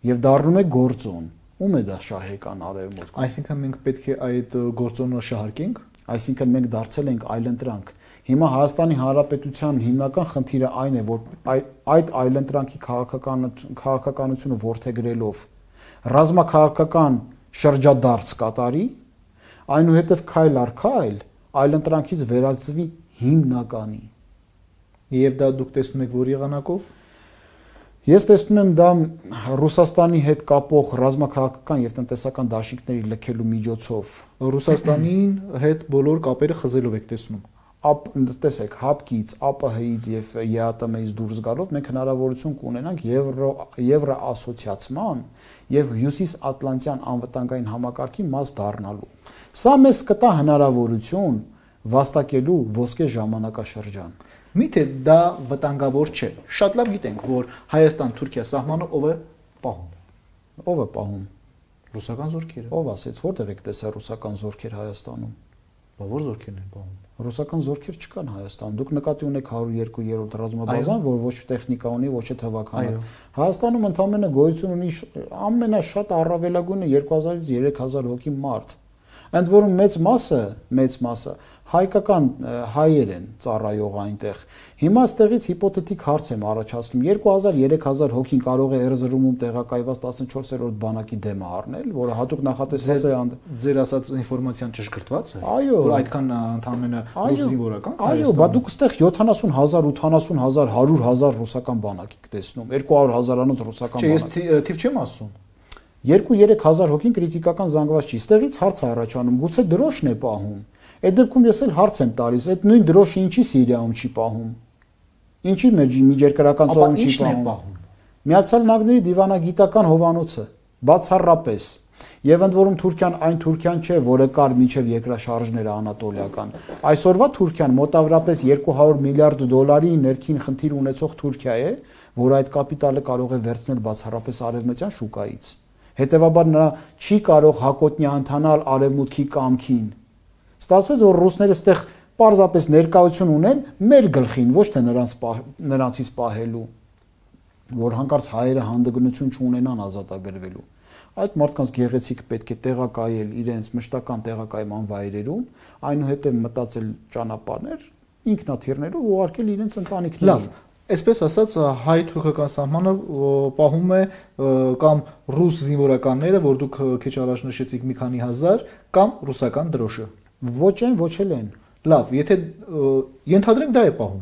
[SPEAKER 2] եւ դառնում է գործոն։ Ում է դա շահեկան արևմուտք։
[SPEAKER 1] Այսինքն մենք պետք է այդ գործոնը շահարկենք,
[SPEAKER 2] այսինքն մենք դարձել ենք այլընտրանք։ Հիմա Հայաստանի Հանրապետության հիմնական խնդիրը այն է, որ այդ այլընտրանքի քաղաքականությունը ворթեգրելով ռազմաքաղաքական շրջադարձ կատարի, այնուհետև քայլ առ քայլ այլընտրանքից վերածվի հիմնականի։
[SPEAKER 1] Եվ դա դուք տեսնում եք որ եղանակով։
[SPEAKER 2] Ես տեսնում եմ դա Ռուսաստանի հետ կապող ռազմաքաղաքական եւ տնտեսական դաշինքների լքելու միջոցով։
[SPEAKER 1] Ռուսաստանին հետ բոլոր կապերը խզելով եք տեսնում։
[SPEAKER 2] Ապ տեսեք, հապկից, ԱՊՀ-ից եւ ԵԱՏՄ-ից դուրս գալով մենք հնարավորություն կունենանք եվրո եվրոասոցիացման եւ հյուսիսատլանտյան անվտանգային համակարգի մաս դառնալու։ Սա մեզ կտա հնարավորություն վաստակելու ոսկե ժամանակաշրջան։
[SPEAKER 1] Միթե դա վտանգավոր չէ։ Շատ լավ գիտենք, որ Հայաստան-Թուրքիա սահմանը ով է պահում։
[SPEAKER 2] Ով է պահում։
[SPEAKER 1] Ռուսական զորքերը։
[SPEAKER 2] Ով ասեց, որտեղ եք տեսա ռուսական զորքեր Հայաստանում։
[SPEAKER 1] Բա որ զորքերն են պահում։
[SPEAKER 2] Ռուսական զորքեր չկան Հայաստանում։ Դուք նկատի ունեք հարյուր երկու-րդ ռազմաբազան, որ ոչ տեխնիկա ունի, ոչ է թվականը։ Հայաստանում ընդամենը գոյություն ունի ամենաշատ առավելագույնը երկու հազարից երեք հազար հոգի մարդ։ Ընդ որում մեծ մասը, մեծ մասը հայկական հայեր են ծառայող այնտեղ։ Հիմա այստեղից հիպոթետիկ հարց եմ առաջացնում. երկու հազար երեք հազար հոգին կարող է Էրզրումում տեղակայված տասնչորսերորդ բանակի դեմը առնել, որը հատուկ նախատեսված է
[SPEAKER 1] ձեր ասած ինֆորմացիան ճշգրտված է։
[SPEAKER 2] Այո,
[SPEAKER 1] որ այդքան ընդամենը ռուս զինվորական։
[SPEAKER 2] Այո, բա դուք այստեղ յոթանասուն հազար, ութանասուն հազար, հարյուր հազար ռուսական բանակ եք տեսնում, երկու հարյուր հազարանոց ռուսական բանակ։
[SPEAKER 1] Չէ, ես թիվ չեմ ասում։
[SPEAKER 2] երկու-երեք հազար հոգին կրիտիկական զանգված չի։ Ստեղից հարց է առաջանում, գուցե դրոշն է պահում։ Այդ դեպքում ես էլ հարց եմ տալիս, այդ նույն դրոշը ինչի Սիրիայում չի պահում։ Ինչի միջերկրական ծովում չի պահում։ Միացյալ Նահանգների դիվանագիտական հովանոցը բացառապես եւ ընդ որում Թուրքիան այն Թուրքիան չէ, որը կար մինչեւ երկրաշարժները անատոլիական։ Այսօրվա Թուրքիան մոտավորապես երկու հարյուր միլիարդ դոլարի ներքին խնդիր ունեցող Թուրքիա է, որ այդ կապիտալը կարող է վերցնել բացառապես արևմտյան շուկայից։ Հետևաբար նա չի կարող հակոտնյա ընթանալ արևմուտքի կամքին։ Ստացվեց, որ ռուսները այդտեղ պարզապես ներկայություն ունեն մեր գլխին, ոչ թե նրանց նրանցից պահելու, որ հանկարծ հայերը հանդգնություն չունենան ազատագրվելու։ Այդ մարդկանց գեղեցիկ պետք է տեղակայել իրենց մշտական տեղակայման վայրերում, այնուհետև մտածել ճանապարհներ, ինքնաթիռներով ուղարկել իրենց ընտանիքներին։
[SPEAKER 1] Լավ, այսպես ասած հայ-թուրքական սահմանը պահում է կամ ռուս զինվորականները, որ դուք քիչ առաջ նշեցիք մի քանի հազար, կամ ռուսական դրոշը։
[SPEAKER 2] Ոչ են, ոչ էլ են։
[SPEAKER 1] Լավ, եթե ենթադրենք դա է պահում։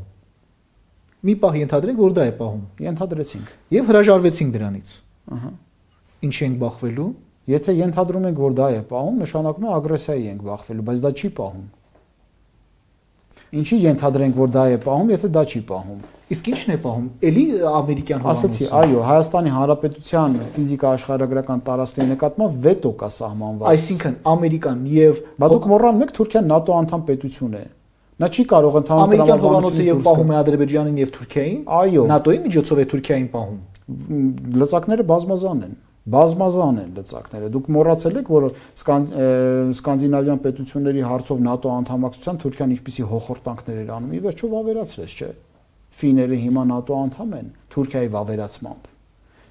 [SPEAKER 1] Մի պահ ենթադրենք, որ դա է պահում։
[SPEAKER 2] Ենթադրեցինք։
[SPEAKER 1] Եվ հրաժարվեցինք դրանից։
[SPEAKER 2] Ահա։
[SPEAKER 1] Ինչ ենք բախվելու։
[SPEAKER 2] Եթե ենթադրում ենք, որ դա է պահում, նշանակում է ագրեսիայի ենք բախվելու, բայց դա չի պահում։ Ինչի ենթադրենք, որ դա է պահում, եթե դա չի պահում։
[SPEAKER 1] Իսկ ի՞նչն է պահում։ Էլի ամերիկյան հովանոցը։
[SPEAKER 2] Ասացի, այո, Հայաստանի Հանրապետության ֆիզիկա աշխարհագրական տարածքների նկատմամբ վետո կա սահմանված։
[SPEAKER 1] Այսինքն Ամերիկան եւ
[SPEAKER 2] Բա դուք մոռանում եք Թուրքիան ՆԱՏՕ անդամ պետություն է։ Նա չի կարող ընդհանուր
[SPEAKER 1] ամերիկյան հովանոցը եւ պահում է Ադրբեջանին եւ Թուրքիային։
[SPEAKER 2] Այո։
[SPEAKER 1] ՆԱՏՕ-ի միջոցով է Թուրքիային պահում։
[SPEAKER 2] Լծակները բազմազան են։ Բազմազան են լծակները։ Դուք մոռացել եք, որ սկանդինավյան պետությունների հարցով ՆԱՏՕ անդամակցության Թուրքիան ինչպիսի հոխորտանքներ էր անում։ Ի վերջո վավերացրեց, չէ՞։ Ֆիները հիմա ՆԱՏՕ անդամ են Թուրքիայի վավերացմամբ։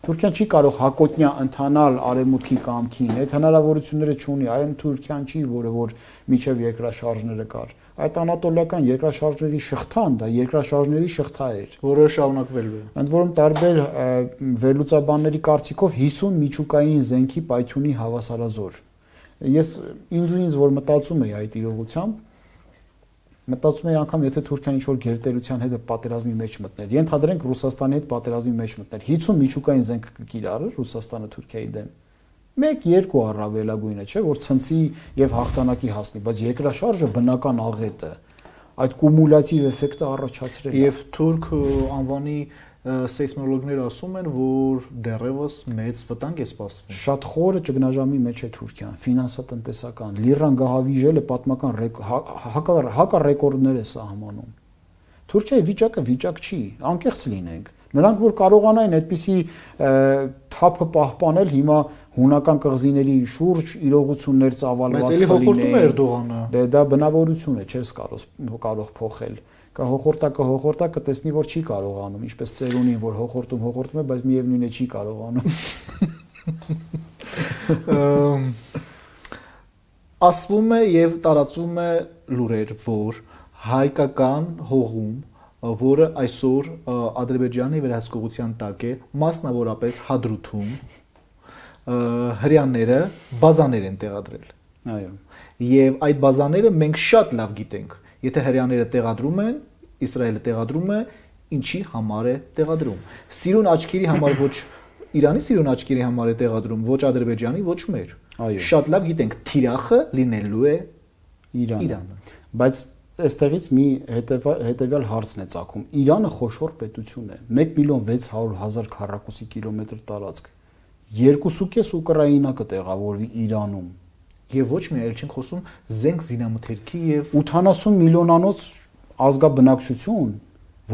[SPEAKER 2] Թուրքիան չի կարող հակոտնյա ընթանալ արևմուտքի կամքին, այդ հնարավորությունները չունի, այլ Թուրքիան չի, որը որ միջև երկրաշարժները կար։ Այդ անատոլիական երկրաշարժների շղթան, դա երկրաշարժների շղթա էր,
[SPEAKER 1] որը շարունակվելու է։
[SPEAKER 2] Ընդ որում տարբեր վերլուծաբանների կարծիքով հիսուն միջուկային զենքի պայթյունի հավասարազոր։ Ես ինձ ու ինձ որ մտածում եի այդ իրողությամբ, մտածում եի անգամ եթե Թուրքիան ինչ-որ գերտերության հետ պատերազմի մեջ մտներ, ենթադրենք Ռուսաստանի հետ պատերազմի մեջ մտներ, հիսուն միջուկային զենք կկիրառեր Ռուսաստանը Թուրքիայի դեմ։ մեկ երկու առավելագույնը, չէ, որ ցնցի եւ հաղթանակի հասնի, բայց երկրաշարժը բնական աղետ է։ Այդ կումուլյատիվ էֆեկտը առաջացրել է։
[SPEAKER 1] Եվ թուրք անվանի սեյսմոլոգները ասում են, որ դեռևս մեծ վտանգ է սպասվում։
[SPEAKER 2] Շատ խորը ճգնաժամի մեջ է Թուրքիան, ֆինանսատնտեսական, լիրան գահավիժելը պատմական հակառեկորդներ է սահմանում։ Թուրքիայի վիճակը վիճակ չի, անկեղծ լինենք։ Նրանք որ կարողանային այդպիսի թափը պահպանել, հիմա հունական կղզիների շուրջ իրողություններ ծավալված
[SPEAKER 1] կլինեին։
[SPEAKER 2] Դե դա բնավորություն է, չես կարող փոխել։ Կա հոխորտա կհոխորտա կտեսնի որ չի կարողանում, ինչպես ծերունին որ հոխորտում հոխորտում է, բայց միևնույն է չի կարողանում։
[SPEAKER 1] Ասվում է եւ տարածվում է լուրեր, որ հայկական հողում, որը այսօր Ադրբեջանի վերահսկողության տակ է, մասնավորապես Հադրութում, հրյանները բազաներ են տեղադրել։
[SPEAKER 2] Այո։
[SPEAKER 1] Եվ այդ բազաները մենք շատ լավ գիտենք։ Եթե հրյաները տեղադրում են, Իսրայելը տեղադրում է, ինչի համար է տեղադրում։ Սիրուն աչքերի համար ոչ Իրանի սիրուն աչքերի համար է տեղադրում, ոչ Ադրբեջանի, ոչ մեր։
[SPEAKER 2] Այո։
[SPEAKER 1] Շատ լավ գիտենք, թիրախը լինելու է
[SPEAKER 2] Իրանը։ Բայց այստեղից մի հետևյալ հարցն է ծագում։ Իրանը խոշոր պետություն է, մեկ միլիոն վեց հարյուր հազար քառակուսի կիլոմետր տարածք։ երկու կես Ուկրաինա կտեղավորվի Իրանում։
[SPEAKER 1] Եվ ոչ մի այլ չենք խոսում զենք զինամթերքի եւ
[SPEAKER 2] ութանասուն միլիոնանոց ազգաբնակչություն,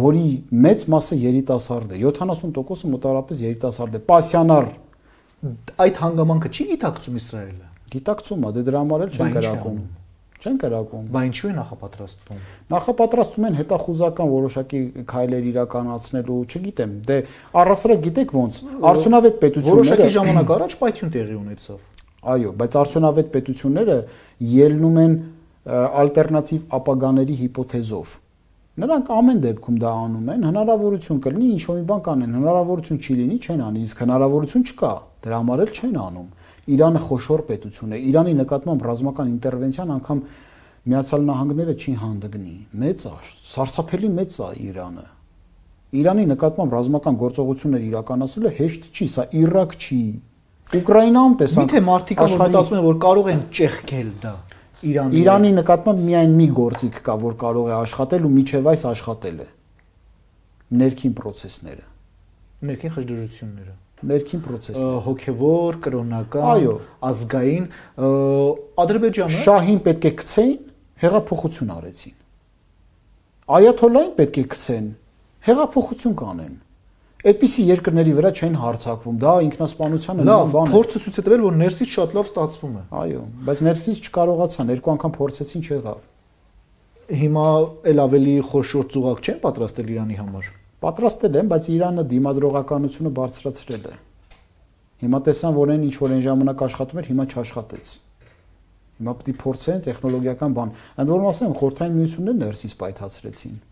[SPEAKER 2] որի մեծ մասը երիտասարդ է, յոթանասուն տոկոսը մոտավորապես երիտասարդ է։ Պասյանար
[SPEAKER 1] այդ հանգամանքը չի գիտակցում Իսրայելը։
[SPEAKER 2] Գիտակցում է, դե դրա համար էլ չեն կրակում։ Չեն կրակում։
[SPEAKER 1] Բա ինչու է նախապատրաստվում։
[SPEAKER 2] Նախապատրաստում են հետախուզական որոշակի քայլեր իրականացնելու, չգիտեմ, դե առասարակ գիտեք ոնց, արդյունավետ պետությունները
[SPEAKER 1] որոշակի ժամանակ առաջ պայթյուն տեղի ունեցավ։
[SPEAKER 2] Այո, բայց արդյունավետ պետությունները ելնում են ալտերնատիվ ապագաների հիպոթեզով։ Նրանք ամեն դեպքում դա անում են, հնարավորություն կլինի ինչ-որ մի բան կանեն, հնարավորություն չի լինի, չեն անի, իսկ հնարավորություն չկա, դրա համար էլ չեն անում։ Իրանը խոշոր պետություն է, Իրանի նկատմամբ ռազմական ինտերվենցիան անգամ Միացյալ Նահանգները չի հանդգնի, մեծ է, սարսափելի մեծ է Իրանը։ Իրանի նկատմամբ ռազմական գործողություններ իրականացնելը հեշտ չի, սա Իրաք չի։ Ուկրաինայում տեսանք։
[SPEAKER 1] Միթե մարդիկ մտածում են, որ կարող են ճեղքել դա Իրանի։
[SPEAKER 2] Իրանի նկատմամբ միայն մի գործիք կա, որ կարող է աշխատել ու միջև այս աշխատել է։ Ներքին process-ները։
[SPEAKER 1] Ներքին խժդժությունները։
[SPEAKER 2] Ներքին process-ը։
[SPEAKER 1] Հոգևոր, կրոնական, ազգային, Ադրբեջանը
[SPEAKER 2] շահին պետք է գցեին, հեղափոխություն արեցին։ Այաթոլլային պետք է գցեն, հեղափոխություն կանեն։ Այդպիսի երկրների վրա չեն հարձակվում, դա ինքնասպանության
[SPEAKER 1] լավ բան է։ Փորձը ցույց է տվել, որ ներսից շատ լավ ստացվում է։
[SPEAKER 2] Այո, բայց ներսից չկարողացան, երկու անգամ փորձեցին, չեղավ։
[SPEAKER 1] Հիմա էլ ավելի խոշոր ծուղակ չեն պատրաստել Իրանի համար։
[SPEAKER 2] Պատրաստել են, բայց Իրանը դիմադրողականությունը բարձրացրել է։ Հիմա տեսան, որ այն ինչ որ այն ժամանակ աշխատում էր, հիմա չաշխատեց։ Հիմա պետք է փորձեն տեխնոլոգիական բան։ Ընդ որում ասեմ, խորհրդային միությունները ներսից պայթացրեցին։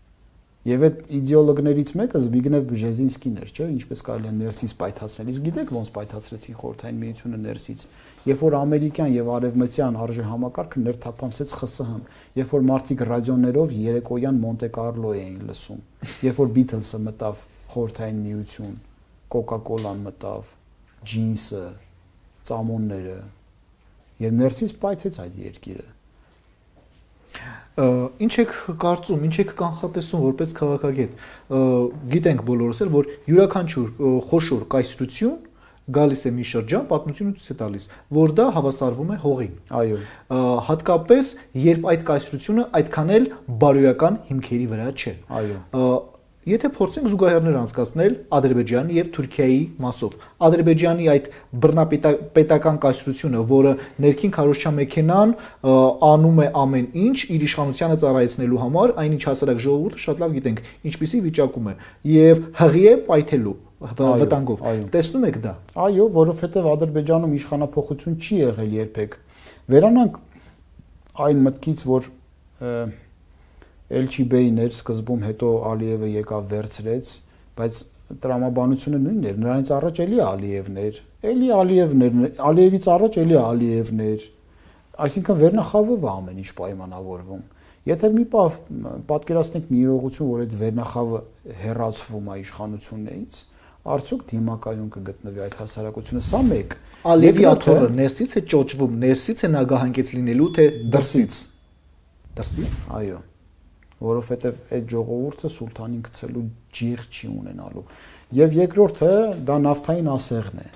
[SPEAKER 2] Եվ այդ իդեոլոգներից մեկը Զբիգնև Բժեզինսկին էր, չէ՞, ինչպես կարելի է ներսից պայթացնել։ Իսկ գիտեք ոնց պայթացրեցին խորհրդային միությունը ներսից։ Երբ որ ամերիկյան եւ արևմտյան արժե համակարգը ներթափանցեց ԽՍՀՄ, երբ որ մարդիկ ռադիոներով երեկոյան Մոնտե Կարլո էին լսում, երբ որ Beatles-ը մտավ խորհրդային միություն, Coca-Cola-ն մտավ, ջինսը, ծամոնները, եւ ներսից պայթեց այդ երկիրը։
[SPEAKER 1] Ինչ եք կարծում, ինչ եք կանխատեսում որպես քաղաքագետ։ Գիտենք բոլորս էլ, որ յուրաքանչյուր խոշոր կայսրություն գալիս է մի շրջան, պատմությունը ցույց է տալիս, որ դա հավասարվում է հողին։
[SPEAKER 2] Այո։
[SPEAKER 1] Հատկապես երբ այդ կայսրությունը այդքան էլ բարոյական հիմքերի վրա չէ։
[SPEAKER 2] Այո։
[SPEAKER 1] Եթե փորձենք զուգահեռներ անցկացնել Ադրբեջանի եւ Թուրքիայի մասով, Ադրբեջանի այդ բռնապետական կայսրությունը, որը ներքին քարոզչա մեքենան անում է ամեն ինչ իր իշխանությանը ծառայեցնելու համար, այնինչ հասարակ ժողովուրդը շատ լավ գիտենք, ինչպիսի վիճակում է եւ հղի է պայթելու վտանգով։ Տեսնում եք դա։
[SPEAKER 2] Այո, որովհետեւ Ադրբեջանում իշխանապողություն չի եղել երբեք։ Վերանանք այն մտքից, որ Էլչիբեին էր սկզբում, հետո Ալիևը եկավ վերցրեց, բայց տրամաբանությունը նույնն էր, նրանից առաջ էլի Ալիևներ, էլի Ալիևներ, Ալիևից առաջ էլի Ալիևներ, այսինքն վերնախավով է ամեն ինչ պայմանավորվում։ Եթե մի պատկերացնենք մի իրողություն, որ այդ վերնախավը հեռացվում է իշխանություններից, արդյոք դիմակայուն կգտնվի այդ հասարակությունը։ Սա մեկ։
[SPEAKER 1] Ալևի աթոռը ներսից է ճոճվում, ներսից է նագահանգեց լինելու, թե դրսից։ Դրսից։
[SPEAKER 2] Այո։ Որովհետև այդ ժողովուրդը սուլթանին գցելու ջիղ չի ունենալու։ Եվ երկրորդը դա նավթային ասեղն է։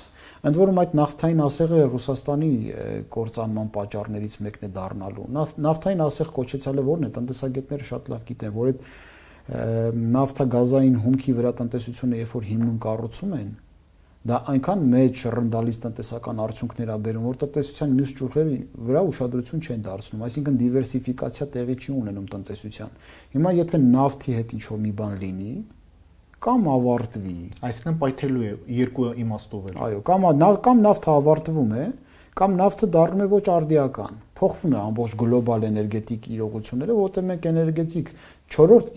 [SPEAKER 2] Ընդ որում այդ նավթային ասեղը Ռուսաստանի կործանման պատճառներից մեկն է դառնալու։ Նավթային ասեղ կոչեցյալը որն է, տնտեսագետները շատ լավ գիտեն, որ այդ նավթագազային հումքի վրա տնտեսությունը երբ որ հիմնում կառուցում են, դա այնքան մեծ շռնդալից տնտեսական արդյունքներ ա բերում, որ տնտեսության մյուս ճյուղերի վրա ուշադրություն չեն դարձնում, այսինքն դիվերսիֆիկացիա տեղի չի ունենում տնտեսության։ Հիմա եթե նավթի հետ ինչ-որ մի բան լինի, կամ ավարտվի,
[SPEAKER 1] այսինքն պայթելու է երկու իմաստով էլ։
[SPEAKER 2] Այո, կամ կամ նավթը ավարտվում է, կամ նավթը դառնում է ոչ արդիական, փոխվում է ամբողջ գլոբալ էներգետիկ իրողությունները, որտեղ մենք էներգետիկ չորրորդ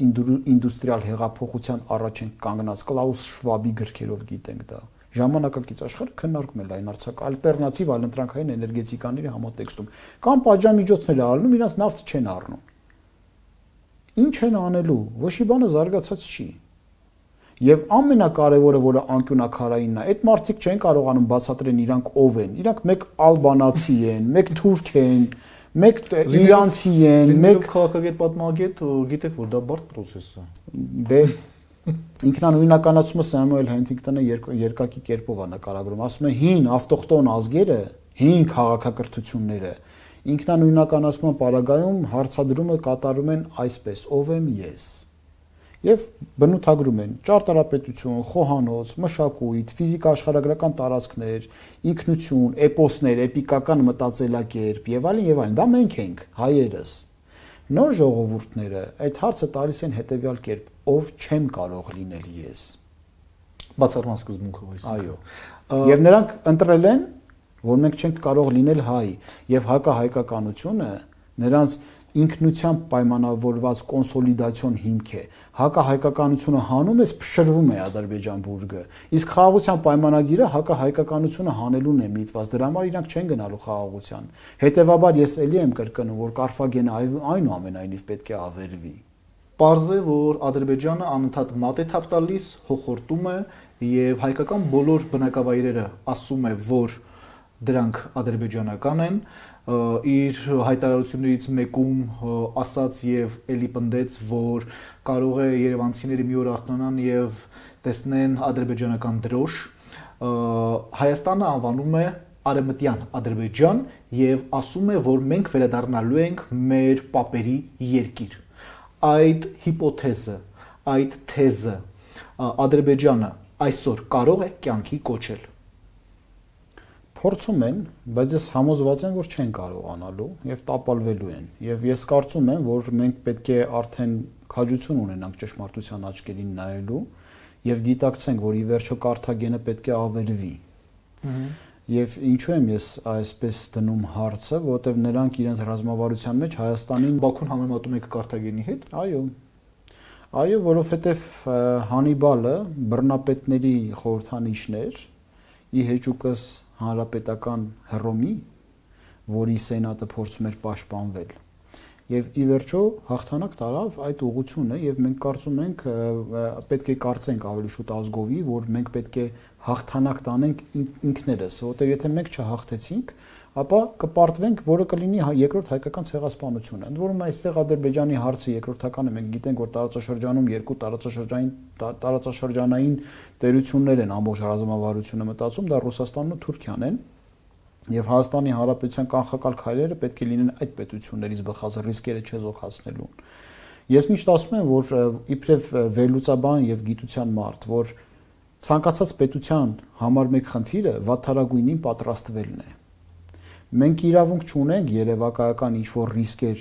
[SPEAKER 2] ինդուստրիալ հեղափոխության առաջ ենք կանգնած, Կլաուս Շվաբի գրքերով գիտենք դա։ Ժամանակակից աշխարհը քննարկում է լայնարձակ ալտերնատիվ այլընտրանքային էներգետիկաների համատեքստում, կամ պատժամիջոցներ առնում, իրաց նավթը չեն առնում։ Ինչ են անելու, ոչ մի բանը զարգացած չի։ Եվ ամենակարևորը, որը անկյունակարայինն է, այդ մարդիկ չեն կարողանում բացատրեն իրանք ով են։ Իրանք մեկ ալբանացի են, մեկ թուրք են, մեկ իրանցի են, մեկ
[SPEAKER 1] քաղաքագետ պատմագետ, գիտեք որ դա բարդ process է։
[SPEAKER 2] Դե ինքնանույնականացումը Սամուել Հենթինգտոնը երկակի կերպով է նկարագրում, ասում է հին ավտոխտոն ազգերը, հին քաղաքակրթությունները ինքնանույնականացման պարագայում հարցադրումը կատարում են այսպես. ով եմ ես։ Եվ բնութագրում են ճարտարապետություն, խոհանոց, մշակույթ, ֆիզիկա աշխարհագրական տարածքներ, ինքնություն, էպոսներ, էպիկական մտածելակերպ եւ այլն եւ այլն։ Դա մենք ենք, հայերս։ Նոր ժողովուրդները այդ հարցը տալիս են հետեւյալ կերպ. ով չեմ կարող լինել ես։
[SPEAKER 1] Բացառման սկզբունքով այս։
[SPEAKER 2] Այո։ Եվ նրանք ընտրել են, որ մենք չենք կարող լինել հայ, եւ հակահայկականությունը նրանց ինքնությամբ պայմանավորված կոնսոլիդացիոն հիմք է։ Հակահայկականությունը հանում է, փշրվում է Ադրբեջան բուրգը։ Իսկ խաղաղության պայմանագիրը հակահայկականությունը հանելուն է միտված։ Դրա համար իրանք չեն գնալու խաղաղության։ Հետևաբար ես ելի եմ կրկնում, որ Կարֆագենը այնուամենայնիվ պետք է ավերվի։
[SPEAKER 1] Պարզ է, որ Ադրբեջանը անընդհատ մատ է թափ տալիս, հոխորտում է եւ հայկական բոլոր բնակավայրերը ասում է, որ դրանք ադրբեջանական են, իր հայտարարություններից մեկում ասաց եւ ելի պնդեց, որ կարող է երևանցիները մի օր արթնանան եւ տեսնեն ադրբեջանական դրոշ, Հայաստանը անվանում է Արևմտյան Ադրբեջան եւ ասում է, որ մենք վերադառնալու ենք մեր պապերի երկիր։ Այդ հիպոթեզը, այդ թեզը Ադրբեջանը այսօր կարող է կյանքի կոչել։
[SPEAKER 2] Փորձում են, բայց ես համոզված եմ, որ չեն կարողանալու եւ տապալվելու են։ Եվ ես կարծում եմ, որ մենք պետք է արդեն քաջություն ունենանք ճշմարտության աչքերին նայելու եւ գիտակցենք, որ ի վերջո Կարթագենը պետք է ավերվի։ Եվ ինչու եմ ես այսպես դնում հարցը, որովհետեւ նրանք իրենց ռազմավարության մեջ Հայաստանին
[SPEAKER 1] Բաքուն համեմատում եք Կարթագենի հետ։
[SPEAKER 2] Այո։ Այո, որովհետեւ Հանիբալը բռնապետների խորհրդանիշն էր, ի հեճուկս հանրապետական Հռոմի, որի սենատը փորձում էր պաշտպանվել։ Եվ ի վերջո հաղթանակ տարավ այդ ուղղությունը եւ մենք կարծում ենք պետք է կարծենք ավելի շուտ ազգովի, որ մենք պետք է հաղթանակ տանենք ինքներս, որովհետեւ եթե մենք չհաղթեցինք, ապա կպարտվենք, որը կլինի երկրորդ հայկական ցեղասպանությունը։ Ընդ որում այստեղ Ադրբեջանի հարցը երկրորդականը մենք գիտենք, որ տարածաշրջանում երկու տարածաշրջանային տարածաշրջանային տերություններ են ամբողջ ռազմավարությունը մտածում, դա Ռուսաստանն ու Թուրքիան են։ Եվ Հայաստանի Հանրապետության կանխակալ քայլերը պետք է լինեն այդ պետություններից բխած ռիսկերը չեզոքացնելուն։ Ես միշտ ասում եմ, որ իբրև վերլուծաբան եւ գիտության մարդ, որ ցանկացած պետության համար մեկ խնդիրը վատթարագույնին պատրաստվելն է։ Մենք իրավունք չունենք երևակայական ինչ-որ ռիսկեր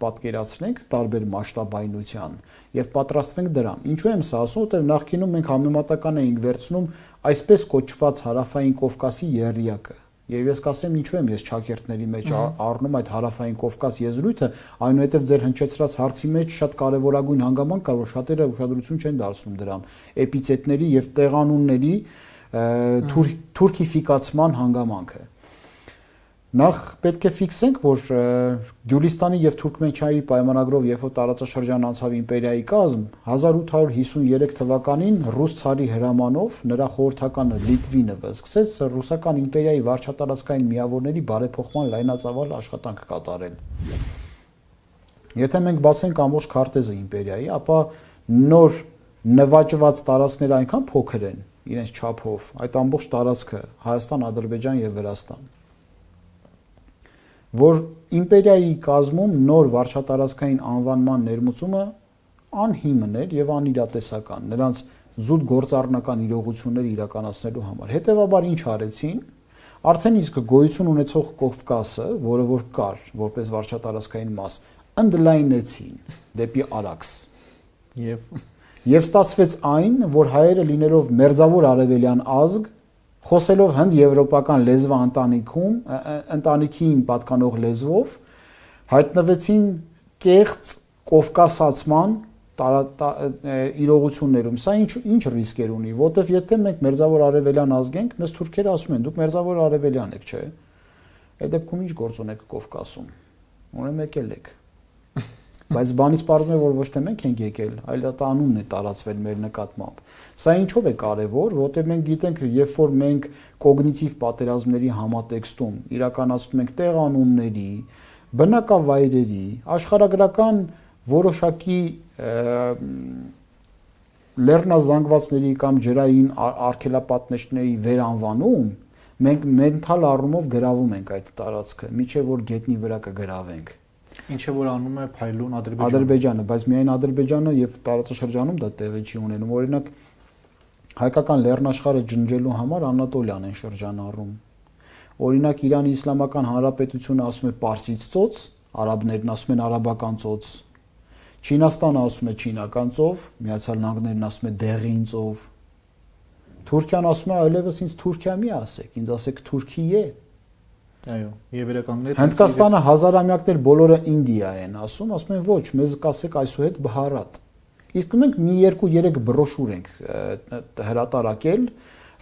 [SPEAKER 2] պատկերացնենք տարբեր մասշտաբայնության եւ պատրաստվենք դրան։ Ինչու եմ սա ասում, որտեղ նախկինում մենք համեմատական էինք վերցնում այսպես կոչված հարավային Կովկասի եռյակը։ Եվ ես կասեմ ինչու եմ ես ճակերտների մեջ առնում այդ հարավային Կովկաս եզրույթը, այնուհետև ձեր հնչեցրած հարցի մեջ շատ կարևորագույն հանգամանք կար, որ շատերը ուշադրություն չեն դարձնում դրան, էպիցետների եւ տեղանունների թուրքիֆիկացման հանգամանքը։ Նախ պետք է ֆիքսենք, որ Գյուլիստանի եւ Թուրքմենչայի պայմանագրով երբ որ տարածաշրջան անցավ իմպերիայի կազմ, հազար ութ հարյուր հիսուններեք թվականին ռուս ցարի հրամանով նրա խորհրդականը Լիտվինովը սկսեց ռուսական իմպերիայի վարչատարածքային միավորների բարեփոխման լայնածավալ աշխատանք կատարել։ Եթե մենք բացենք ամբողջ քարտեզը իմպերիայի, ապա նոր նվաճված տարածքները այնքան փոքր են իրենց չափով, այդ ամբողջ տարածքը Հայաստան, Ադրբեջան եւ Վրաստան, որ իմպերիայի կազմում նոր վարչատարածքային անվանման ներմուծումը անհիմն էր եւ անիրատեսական, նրանց զուտ գործառնական իրողությունները իրականացնելու համար։ Հետևաբար ինչ արեցին, արդեն իսկ գոյություն ունեցող Կովկասը, որը որ կար որպես վարչատարածքային մաս, ընդլայնեցին դեպի Արաքս։
[SPEAKER 1] Եվ
[SPEAKER 2] Եվ ստացվեց այն, որ հայերը լինելով մերձավոր արևելյան ազգ, խոսելով հնդ-եվրոպական լեզվա ընտանիքում, ընտանիքին պատկանող լեզվով, հայտնվեցին կեղծ կովկասացման իրողություններում։ Սա ինչ ինչ ռիսկեր ունի, որտեվ եթե մենք մերձավոր արևելյան ազգ ենք, մեզ թուրքերը ասում են, դուք մերձավոր արևելյան եք, չէ՞։ Այդ դեպքում ինչ գործ ունեք Կովկասում։ Ուրեմն եկել եք։ Բայց բանից պարզվում է, որ ոչ թե մենք ենք եկել, այլ դա անունն է տարածվել մեր նկատմամբ։ Սա ինչով է կարևոր, որտեղ մենք գիտենք, երբ որ մենք կոգնիտիվ պատերազմների համատեքստում իրականացնում ենք տեղանունների, բնակավայրերի, աշխարհագրական որոշակի լեռնազանգվածների կամ ջրային արգելապատնեշների վերանվանում, մենք մենթալ առումով գրավում ենք այդ տարածքը, միջև որ գետնի վրա կգրավենք։
[SPEAKER 1] Ինչը որ անում է փայլուն Ադրբեջանը։
[SPEAKER 2] Ադրբեջանը, բայց միայն Ադրբեջանը եւ տարածաշրջանում դա տեղի չի ունենում։ Օրինակ հայկական լեռնաշխարհը ջնջելու համար Անատոլիան են շրջանառում։ Օրինակ Իրանի Իսլամական Հանրապետությունը ասում է Պարսից ծոց, արաբներն ասում են արաբական ծոց։ Չինաստանը ասում է չինական ծով, Միացյալ Նահանգներն ասում է դեղին ծով։ Թուրքիան ասում է այլևս ինձ Թուրքիա մի ասեք, ինձ ասեք Թուրքիե։
[SPEAKER 1] Այո, եւ վերականգնեց
[SPEAKER 2] Հնդկաստանը հազարամյակներ բոլորը Ինդիա են ասում, ասում են ոչ, մեզ կասեք այսուհետ Բհարատ։ Իսկ մենք մի երկու երեք բրոշուր ենք հրատարակել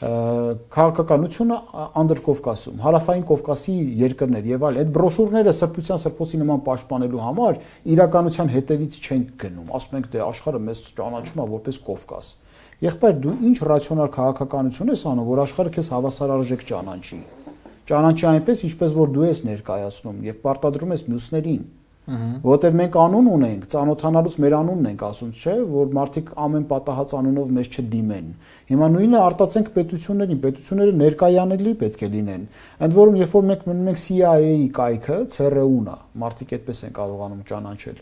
[SPEAKER 2] քաղաքականությունը Անդրկովկասում, Հարավային Կովկասի երկրներ եւ այլ։ Այդ բրոշուրները սրբության սրբոցի նման պաշտպանելու համար իրականության հետևից չեն գնում։ Ասում ենք դե աշխարհը մեզ ճանաչում է որպես Կովկաս։ Եղբայր դու ինչ ռացիոնալ քաղաքականություն ես անում, որ աշխարհը քեզ հավասարարժեք ճանաչի։ Ճանաչի այնպես, ինչպես որ դու ես ներկայացնում եւ պարտադրում ես մյուսներին։ Որտեւ մենք անուն ունենք, ծանոթանալուց մեր անունն ենք ասում, չէ՞, որ մարդիկ ամեն պատահած անունով մեզ չդիմեն։ Հիմա նույնը արտացենք պետություններին, պետությունները ներկայանելի պետք է լինեն։ Ընդ որում, երբ որ մենք մնում ենք C I A-ի կայքը, C R U-ն է, մարդիկ այդպես են կարողանում ճանաչել։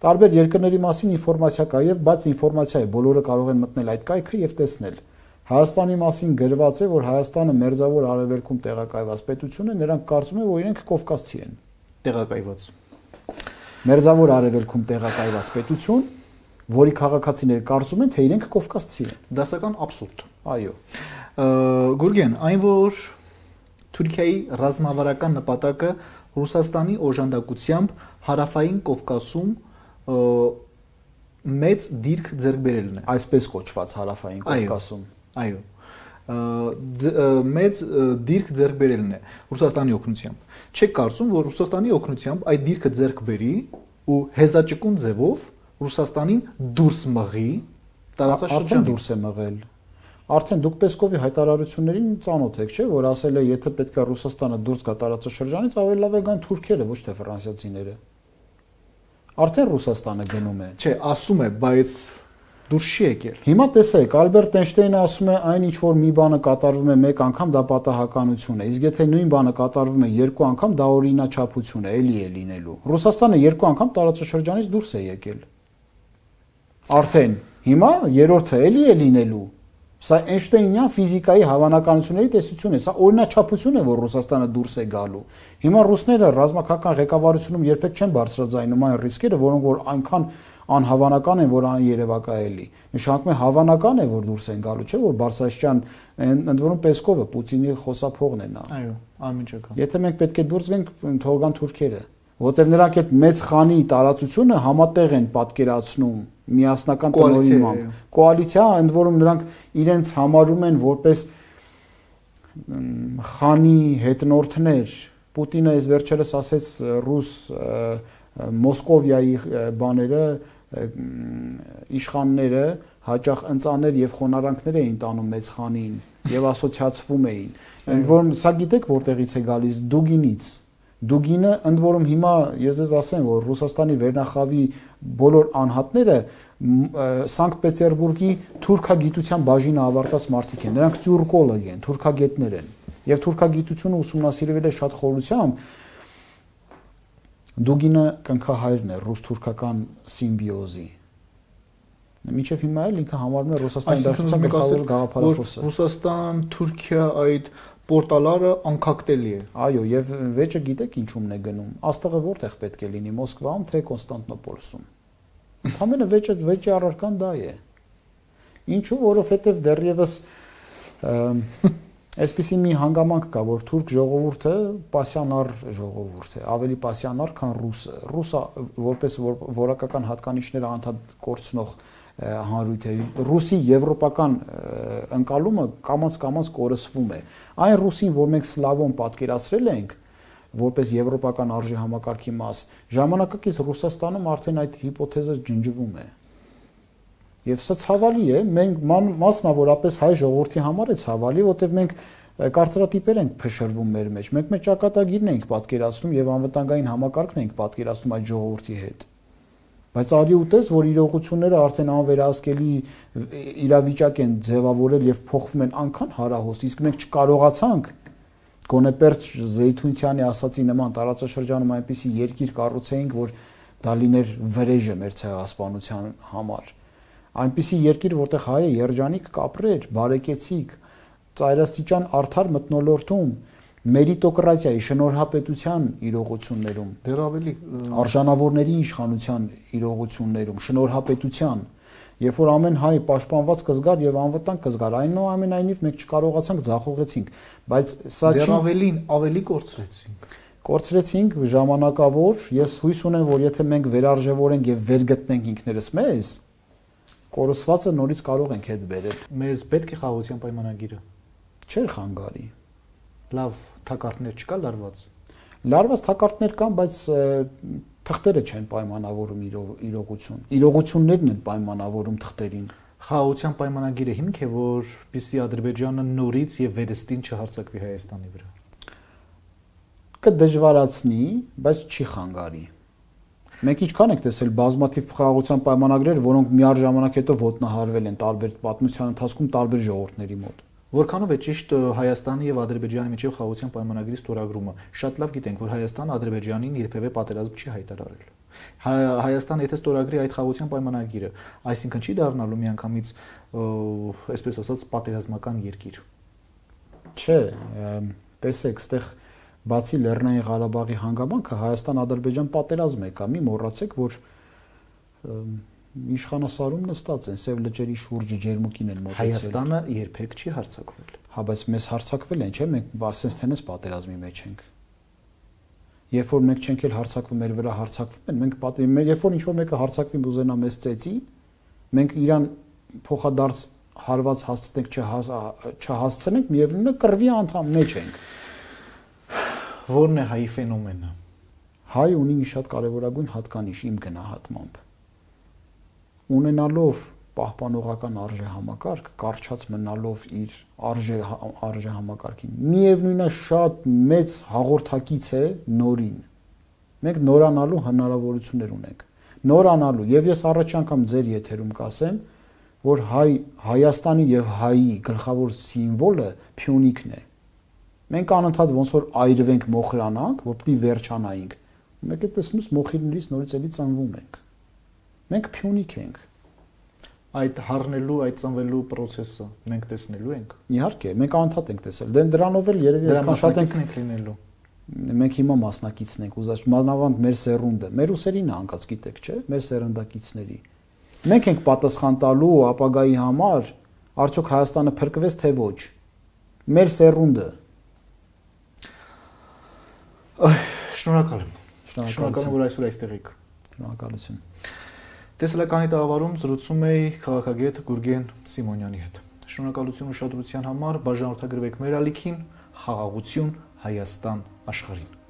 [SPEAKER 2] Տարբեր երկրների մասին ինֆորմացիա կա եւ բաց ինֆորմացիա է, բոլորը կարող են մտնել այդ կայքը եւ տեսնել։ Հայաստանի մասին գրված է, որ Հայաստանը մերձավոր արևելքում տեղակայված պետություն է, նրանք կարծում են, որ իրենք կովկասցի են։
[SPEAKER 1] Տեղակայված։
[SPEAKER 2] Մերձավոր արևելքում տեղակայված պետություն, որի քաղաքացիները կարծում են, թե իրենք կովկասցի են։
[SPEAKER 1] Դասական աբսուրդ։
[SPEAKER 2] Այո։
[SPEAKER 1] Գուրգեն, այն որ Թուրքիայի ռազմավարական նպատակը Ռուսաստանի օժանդակությամբ Հարավային Կովկասում մեծ դիրք ձեռք բերելն է։
[SPEAKER 2] Այսպես կոչված Հարավային Կովկասում։
[SPEAKER 1] Այո, մեծ դիրք ձեռք բերելն է Ռուսաստանի օգնությամբ։ Չեք կարծում, որ Ռուսաստանի օգնությամբ այդ դիրքը ձեռք բերի ու հեզաճկուն ձևով Ռուսաստանին դուրս մղի տարածաշրջանից։ Արդեն դուրս է մղել։ Արդեն դուք Պեսկովի հայտարարություններին ծանոթ եք, չէ՞, որ ասել է, եթե պետք է Ռուսաստանը դուրս գա տարածաշրջանից, ավելի լավ է գան թուրքերը, ոչ թե ֆրանսիացիները։ Արդեն Ռուսաստանը գնում է։ Չէ, ասում է, բայց դուրս չի եկել։
[SPEAKER 2] Հիմա տեսեք, Ալբերտ Էյնշտեյնը ասում է, այն ինչ որ մի բանը կատարվում է մեկ անգամ, դա պատահականություն է։ Իսկ եթե նույն բանը կատարվում է երկու անգամ, դա օրինաչափություն է, էլի է լինելու։ Ռուսաստանը երկու անգամ տարածաշրջանից դուրս է եկել։ Արդեն հիմա երրորդը էլի է լինելու։ Սա Էյնշտեյնյան ֆիզիկայի հավանականությունների տեսություն է, սա օրինաչափություն է, որ Ռուսաստանը դուրս է գալու։ Հիմա ռուսները ռազմական ղեկավարությունում երբեք չեն բարձրաձայնում այն ռիսկերը, որոնք որ այնքան անհավանական են, որ աներևակայելի։ Նշանակում է հավանական է, որ դուրս են գալու, չէ՞ որ Բարսաշյան, ընդ որում Պեսկովը Պուտինի խոսափողն է նա։
[SPEAKER 1] Այո, անմիջական։
[SPEAKER 2] Եթե մենք պետք է դուրս գանք, թողան թուրքերը, որտեղ նրանք այդ մեծ խանի տարածությունը համատեղ են պատկերացնում միասնական տնօրինմամբ։ Կոալիցիա, ընդ որում նրանք իրենց համարում են որպես խանի հետնորդներ Պուտինը այս վերջերս ասեց ռուս Մոսկովիայի բաները իշխանները հաճախ ընծաներ եւ խոնարանքներ էին տանում մեծ խանին եւ ասոցիացվում էին։ Ընդ որում սա գիտեք որտեղից է գալիս Դուգինից։ Դուգինը ընդ որում հիմա ես դες ասեմ որ Ռուսաստանի վերնախավի բոլոր անհատները Սանկտ Պետերբուրգի թուրքագիտության բաժինը ավարտած մարդիկ են։ Նրանք տյուրկոլոգ են, թուրքագետներ են։ Եվ թուրքագիտությունը ուսումնասիրվել է շատ խորությամբ։ Դուգինը կնքահայրն է ռուս-թուրքական սիմբիոզի։ Մինչև հիմա էլ ինքը համարվում է Ռուսաստանի Դաշնության գլխավոր գաղափարախոսը։
[SPEAKER 1] Ռուսաստան, Թուրքիա այդ պորտալարը անկախտելի է։
[SPEAKER 2] Այո, եւ վեճը գիտեք ինչումն է գնում։ Աստղը որտեղ պետք է լինի՝ Մոսկվայում թե Կոնստանտինոպոլսում։ Ընդհանրապես վեճը վեճի առարկան դա է։ Ինչու, որովհետեւ դեռևս այսպիսի մի հանգամանք կա, որ թուրք ժողովուրդը պասիոնար ժողովուրդ է, ավելի պասիոնար, քան ռուսը։ Ռուսը որպես որակական հատկանիշներ անդադ կորցնող հանրույթ է։ Ռուսի եվրոպական ընկալումը կամաց-կամաց կորսվում է։ Այն ռուսին, որ մենք սլավոն պատկերացրել ենք, որպես եվրոպական արժի համակարգի մաս, ժամանակակից Ռուսաստանում արդեն այդ հիպոթեզը ջնջվում է։ Եվ սա ցավալի է, մենք մասնավորապես հայ ժողովրդի համար է ցավալի, որտեղ մենք կարծրատիպեր ենք փշրվում մեր մեջ։ Մենք մեր ճակատագիրն ենք պատկերացնում եւ անվտանգային համակարգն ենք պատկերացնում այդ ժողովրդի հետ։ Բայց արի ուտես, որ իրողությունները արդեն անվերահսկելի իրավիճակ են ձևավորել եւ փոխվում են անքան հարահոս, իսկ մենք չկարողացանք գոնե Պերճ Զեյթունցյանի ասացի նման տարածաշրջանում այնպիսի երկիր կառուցեինք, որ դա լիներ վրեժը մեր ցեղասպանության համար։ Այնպիսի երկիր, որտեղ հայը երջանիկ կապրեր, բարեկեցիկ, ծայրաստիճան արդար մթնոլորտում, մերիտոկրատիայի, շնորհապետության իրողություններում,
[SPEAKER 1] դեռ ավելի
[SPEAKER 2] արժանավորների իշխանության իրողություններում, շնորհապետության, երբ որ ամեն հայ պաշտպանված կզգար եւ անվտանգ կզգար, այնուամենայնիվ մենք չկարողացանք ձախողեցինք, բայց սա չի
[SPEAKER 1] դեռ ավելին ավելի կորցրեցինք։
[SPEAKER 2] Կորցրեցինք ժամանակավոր, ես հույս ունեմ, որ եթե մենք վերարժևորենք եւ վերգտնենք ինքներս մեզ, կորսվածը նորից կարող ենք հետ բերել։
[SPEAKER 1] Մեզ պետք է խաղաղության պայմանագիրը։
[SPEAKER 2] Չէր խանգարի։
[SPEAKER 1] Լավ թակարդներ չկա լարված։
[SPEAKER 2] Լարված թակարդներ կան, բայց թղթերը չեն պայմանավորում իրողություն։ Իրողություններն են պայմանավորում թղթերին։
[SPEAKER 1] Խաղաղության պայմանագիրը հիմք է, որպեսզի Ադրբեջանը նորից եւ վերստին չհարձակվի Հայաստանի վրա։
[SPEAKER 2] Կդժվարացնի, բայց չի խանգարի։ Մենք ինչքան ենք տեսել բազմաթիվ խաղաղության պայմանագրեր, որոնք միառժամանակ հետո ոտնահարվել են տարբեր պատմության ընթացքում տարբեր ժողովուրդների մոտ։
[SPEAKER 1] Որքանով է ճիշտ Հայաստանի եւ Ադրբեջանի միջև խաղաղության պայմանագրի ստորագրումը։ Շատ լավ գիտենք, որ Հայաստանը Ադրբեջանին երբևէ պատերազմ չի հայտարարել։ Հայաստանը եթե ստորագրի այդ խաղաղության պայմանագիրը, այսինքն չի դառնալու միանգամից, այսպես ասած, պատերազմական երկիր։
[SPEAKER 2] Չէ, տեսեք, այստեղ բացի Լեռնային Ղարաբաղի հանգամանքը Հայաստան-Ադրբեջան պատերազմ է կա, մի մոռացեք, որ իշխանասարում նստած են, Սև լճերի շուրջը ջերմուկին են մոտեցել։
[SPEAKER 1] Հայաստանը երբեք չի հարձակվել։
[SPEAKER 2] Հա, բայց մեզ հարձակվել են, չէ՞, մենք ասենց թենես պատերազմի մեջ ենք։ Երբ որ մենք չենք էլ հարձակվում, մեր վրա հարձակվում են, մենք պատերազմի, երբ որ ինչ-որ մեկը հարձակվի ուզենա մեզ ծեծի, մենք իրան փոխադարձ հարված հասցնենք, չհասցնենք, միևնույնն է կռվի անդամ մեջ ենք։
[SPEAKER 1] Որն է հայի ֆենոմենը։
[SPEAKER 2] Հայ ունի մի շատ կարևորագույն հատկանիշ իմ գնահատմամբ։ Ունենալով պահպանողական արժե համակարգ, կարճած մնալով իր արժե արժե համակարգին, միևնույնն է շատ մեծ հաղորդակից է նորին։ Մենք նորանալու հնարավորություններ ունենք։ Նորանալու, եւ ես առաջ անգամ ձեր եթերում կասեմ, որ հայ Հայաստանի եւ հայի գլխավոր սիմվոլը Փյունիկն է։ Մենք անընդհատ ոնց որ այրվենք մոխրանանք, որ պիտի վերջանայինք։ Մեկ է տեսնուս մոխիրներից նորից էլի ծնվում ենք։ Մենք Փյունիկ ենք։
[SPEAKER 1] Այդ հառնելու, այդ ծնվելու process-ը մենք տեսնելու ենք։
[SPEAKER 2] Իհարկե, մենք անընդհատ ենք տեսել։ Դե դրանով էլ երևի այդքան շատ ենք
[SPEAKER 1] լինելու։
[SPEAKER 2] Մենք հիմա մասնակիցն ենք, ուզած մանավանդ մեր սերունդը, մեր ուսերին է անկած, գիտեք, չէ՞, մեր սերնդակիցների։ Մենք ենք պատասխան տալու ապագայի համար, արդյոք Հայաստանը փրկվեց թե ոչ։ Մեր սերունդը։
[SPEAKER 1] Շնորհակալ եմ։ Շնորհակալ եմ, որ այսօր այստեղ եք։
[SPEAKER 2] Շնորհակալություն։
[SPEAKER 1] Տեսլականի տաղավարում զրուցում էի քաղաքագետ Գուրգեն Սիմոնյանի հետ։ Շնորհակալություն ուշադրության համար, բաժանորդագրվեք մեր ալիքին, խաղաղություն Հայաստան աշխարհին։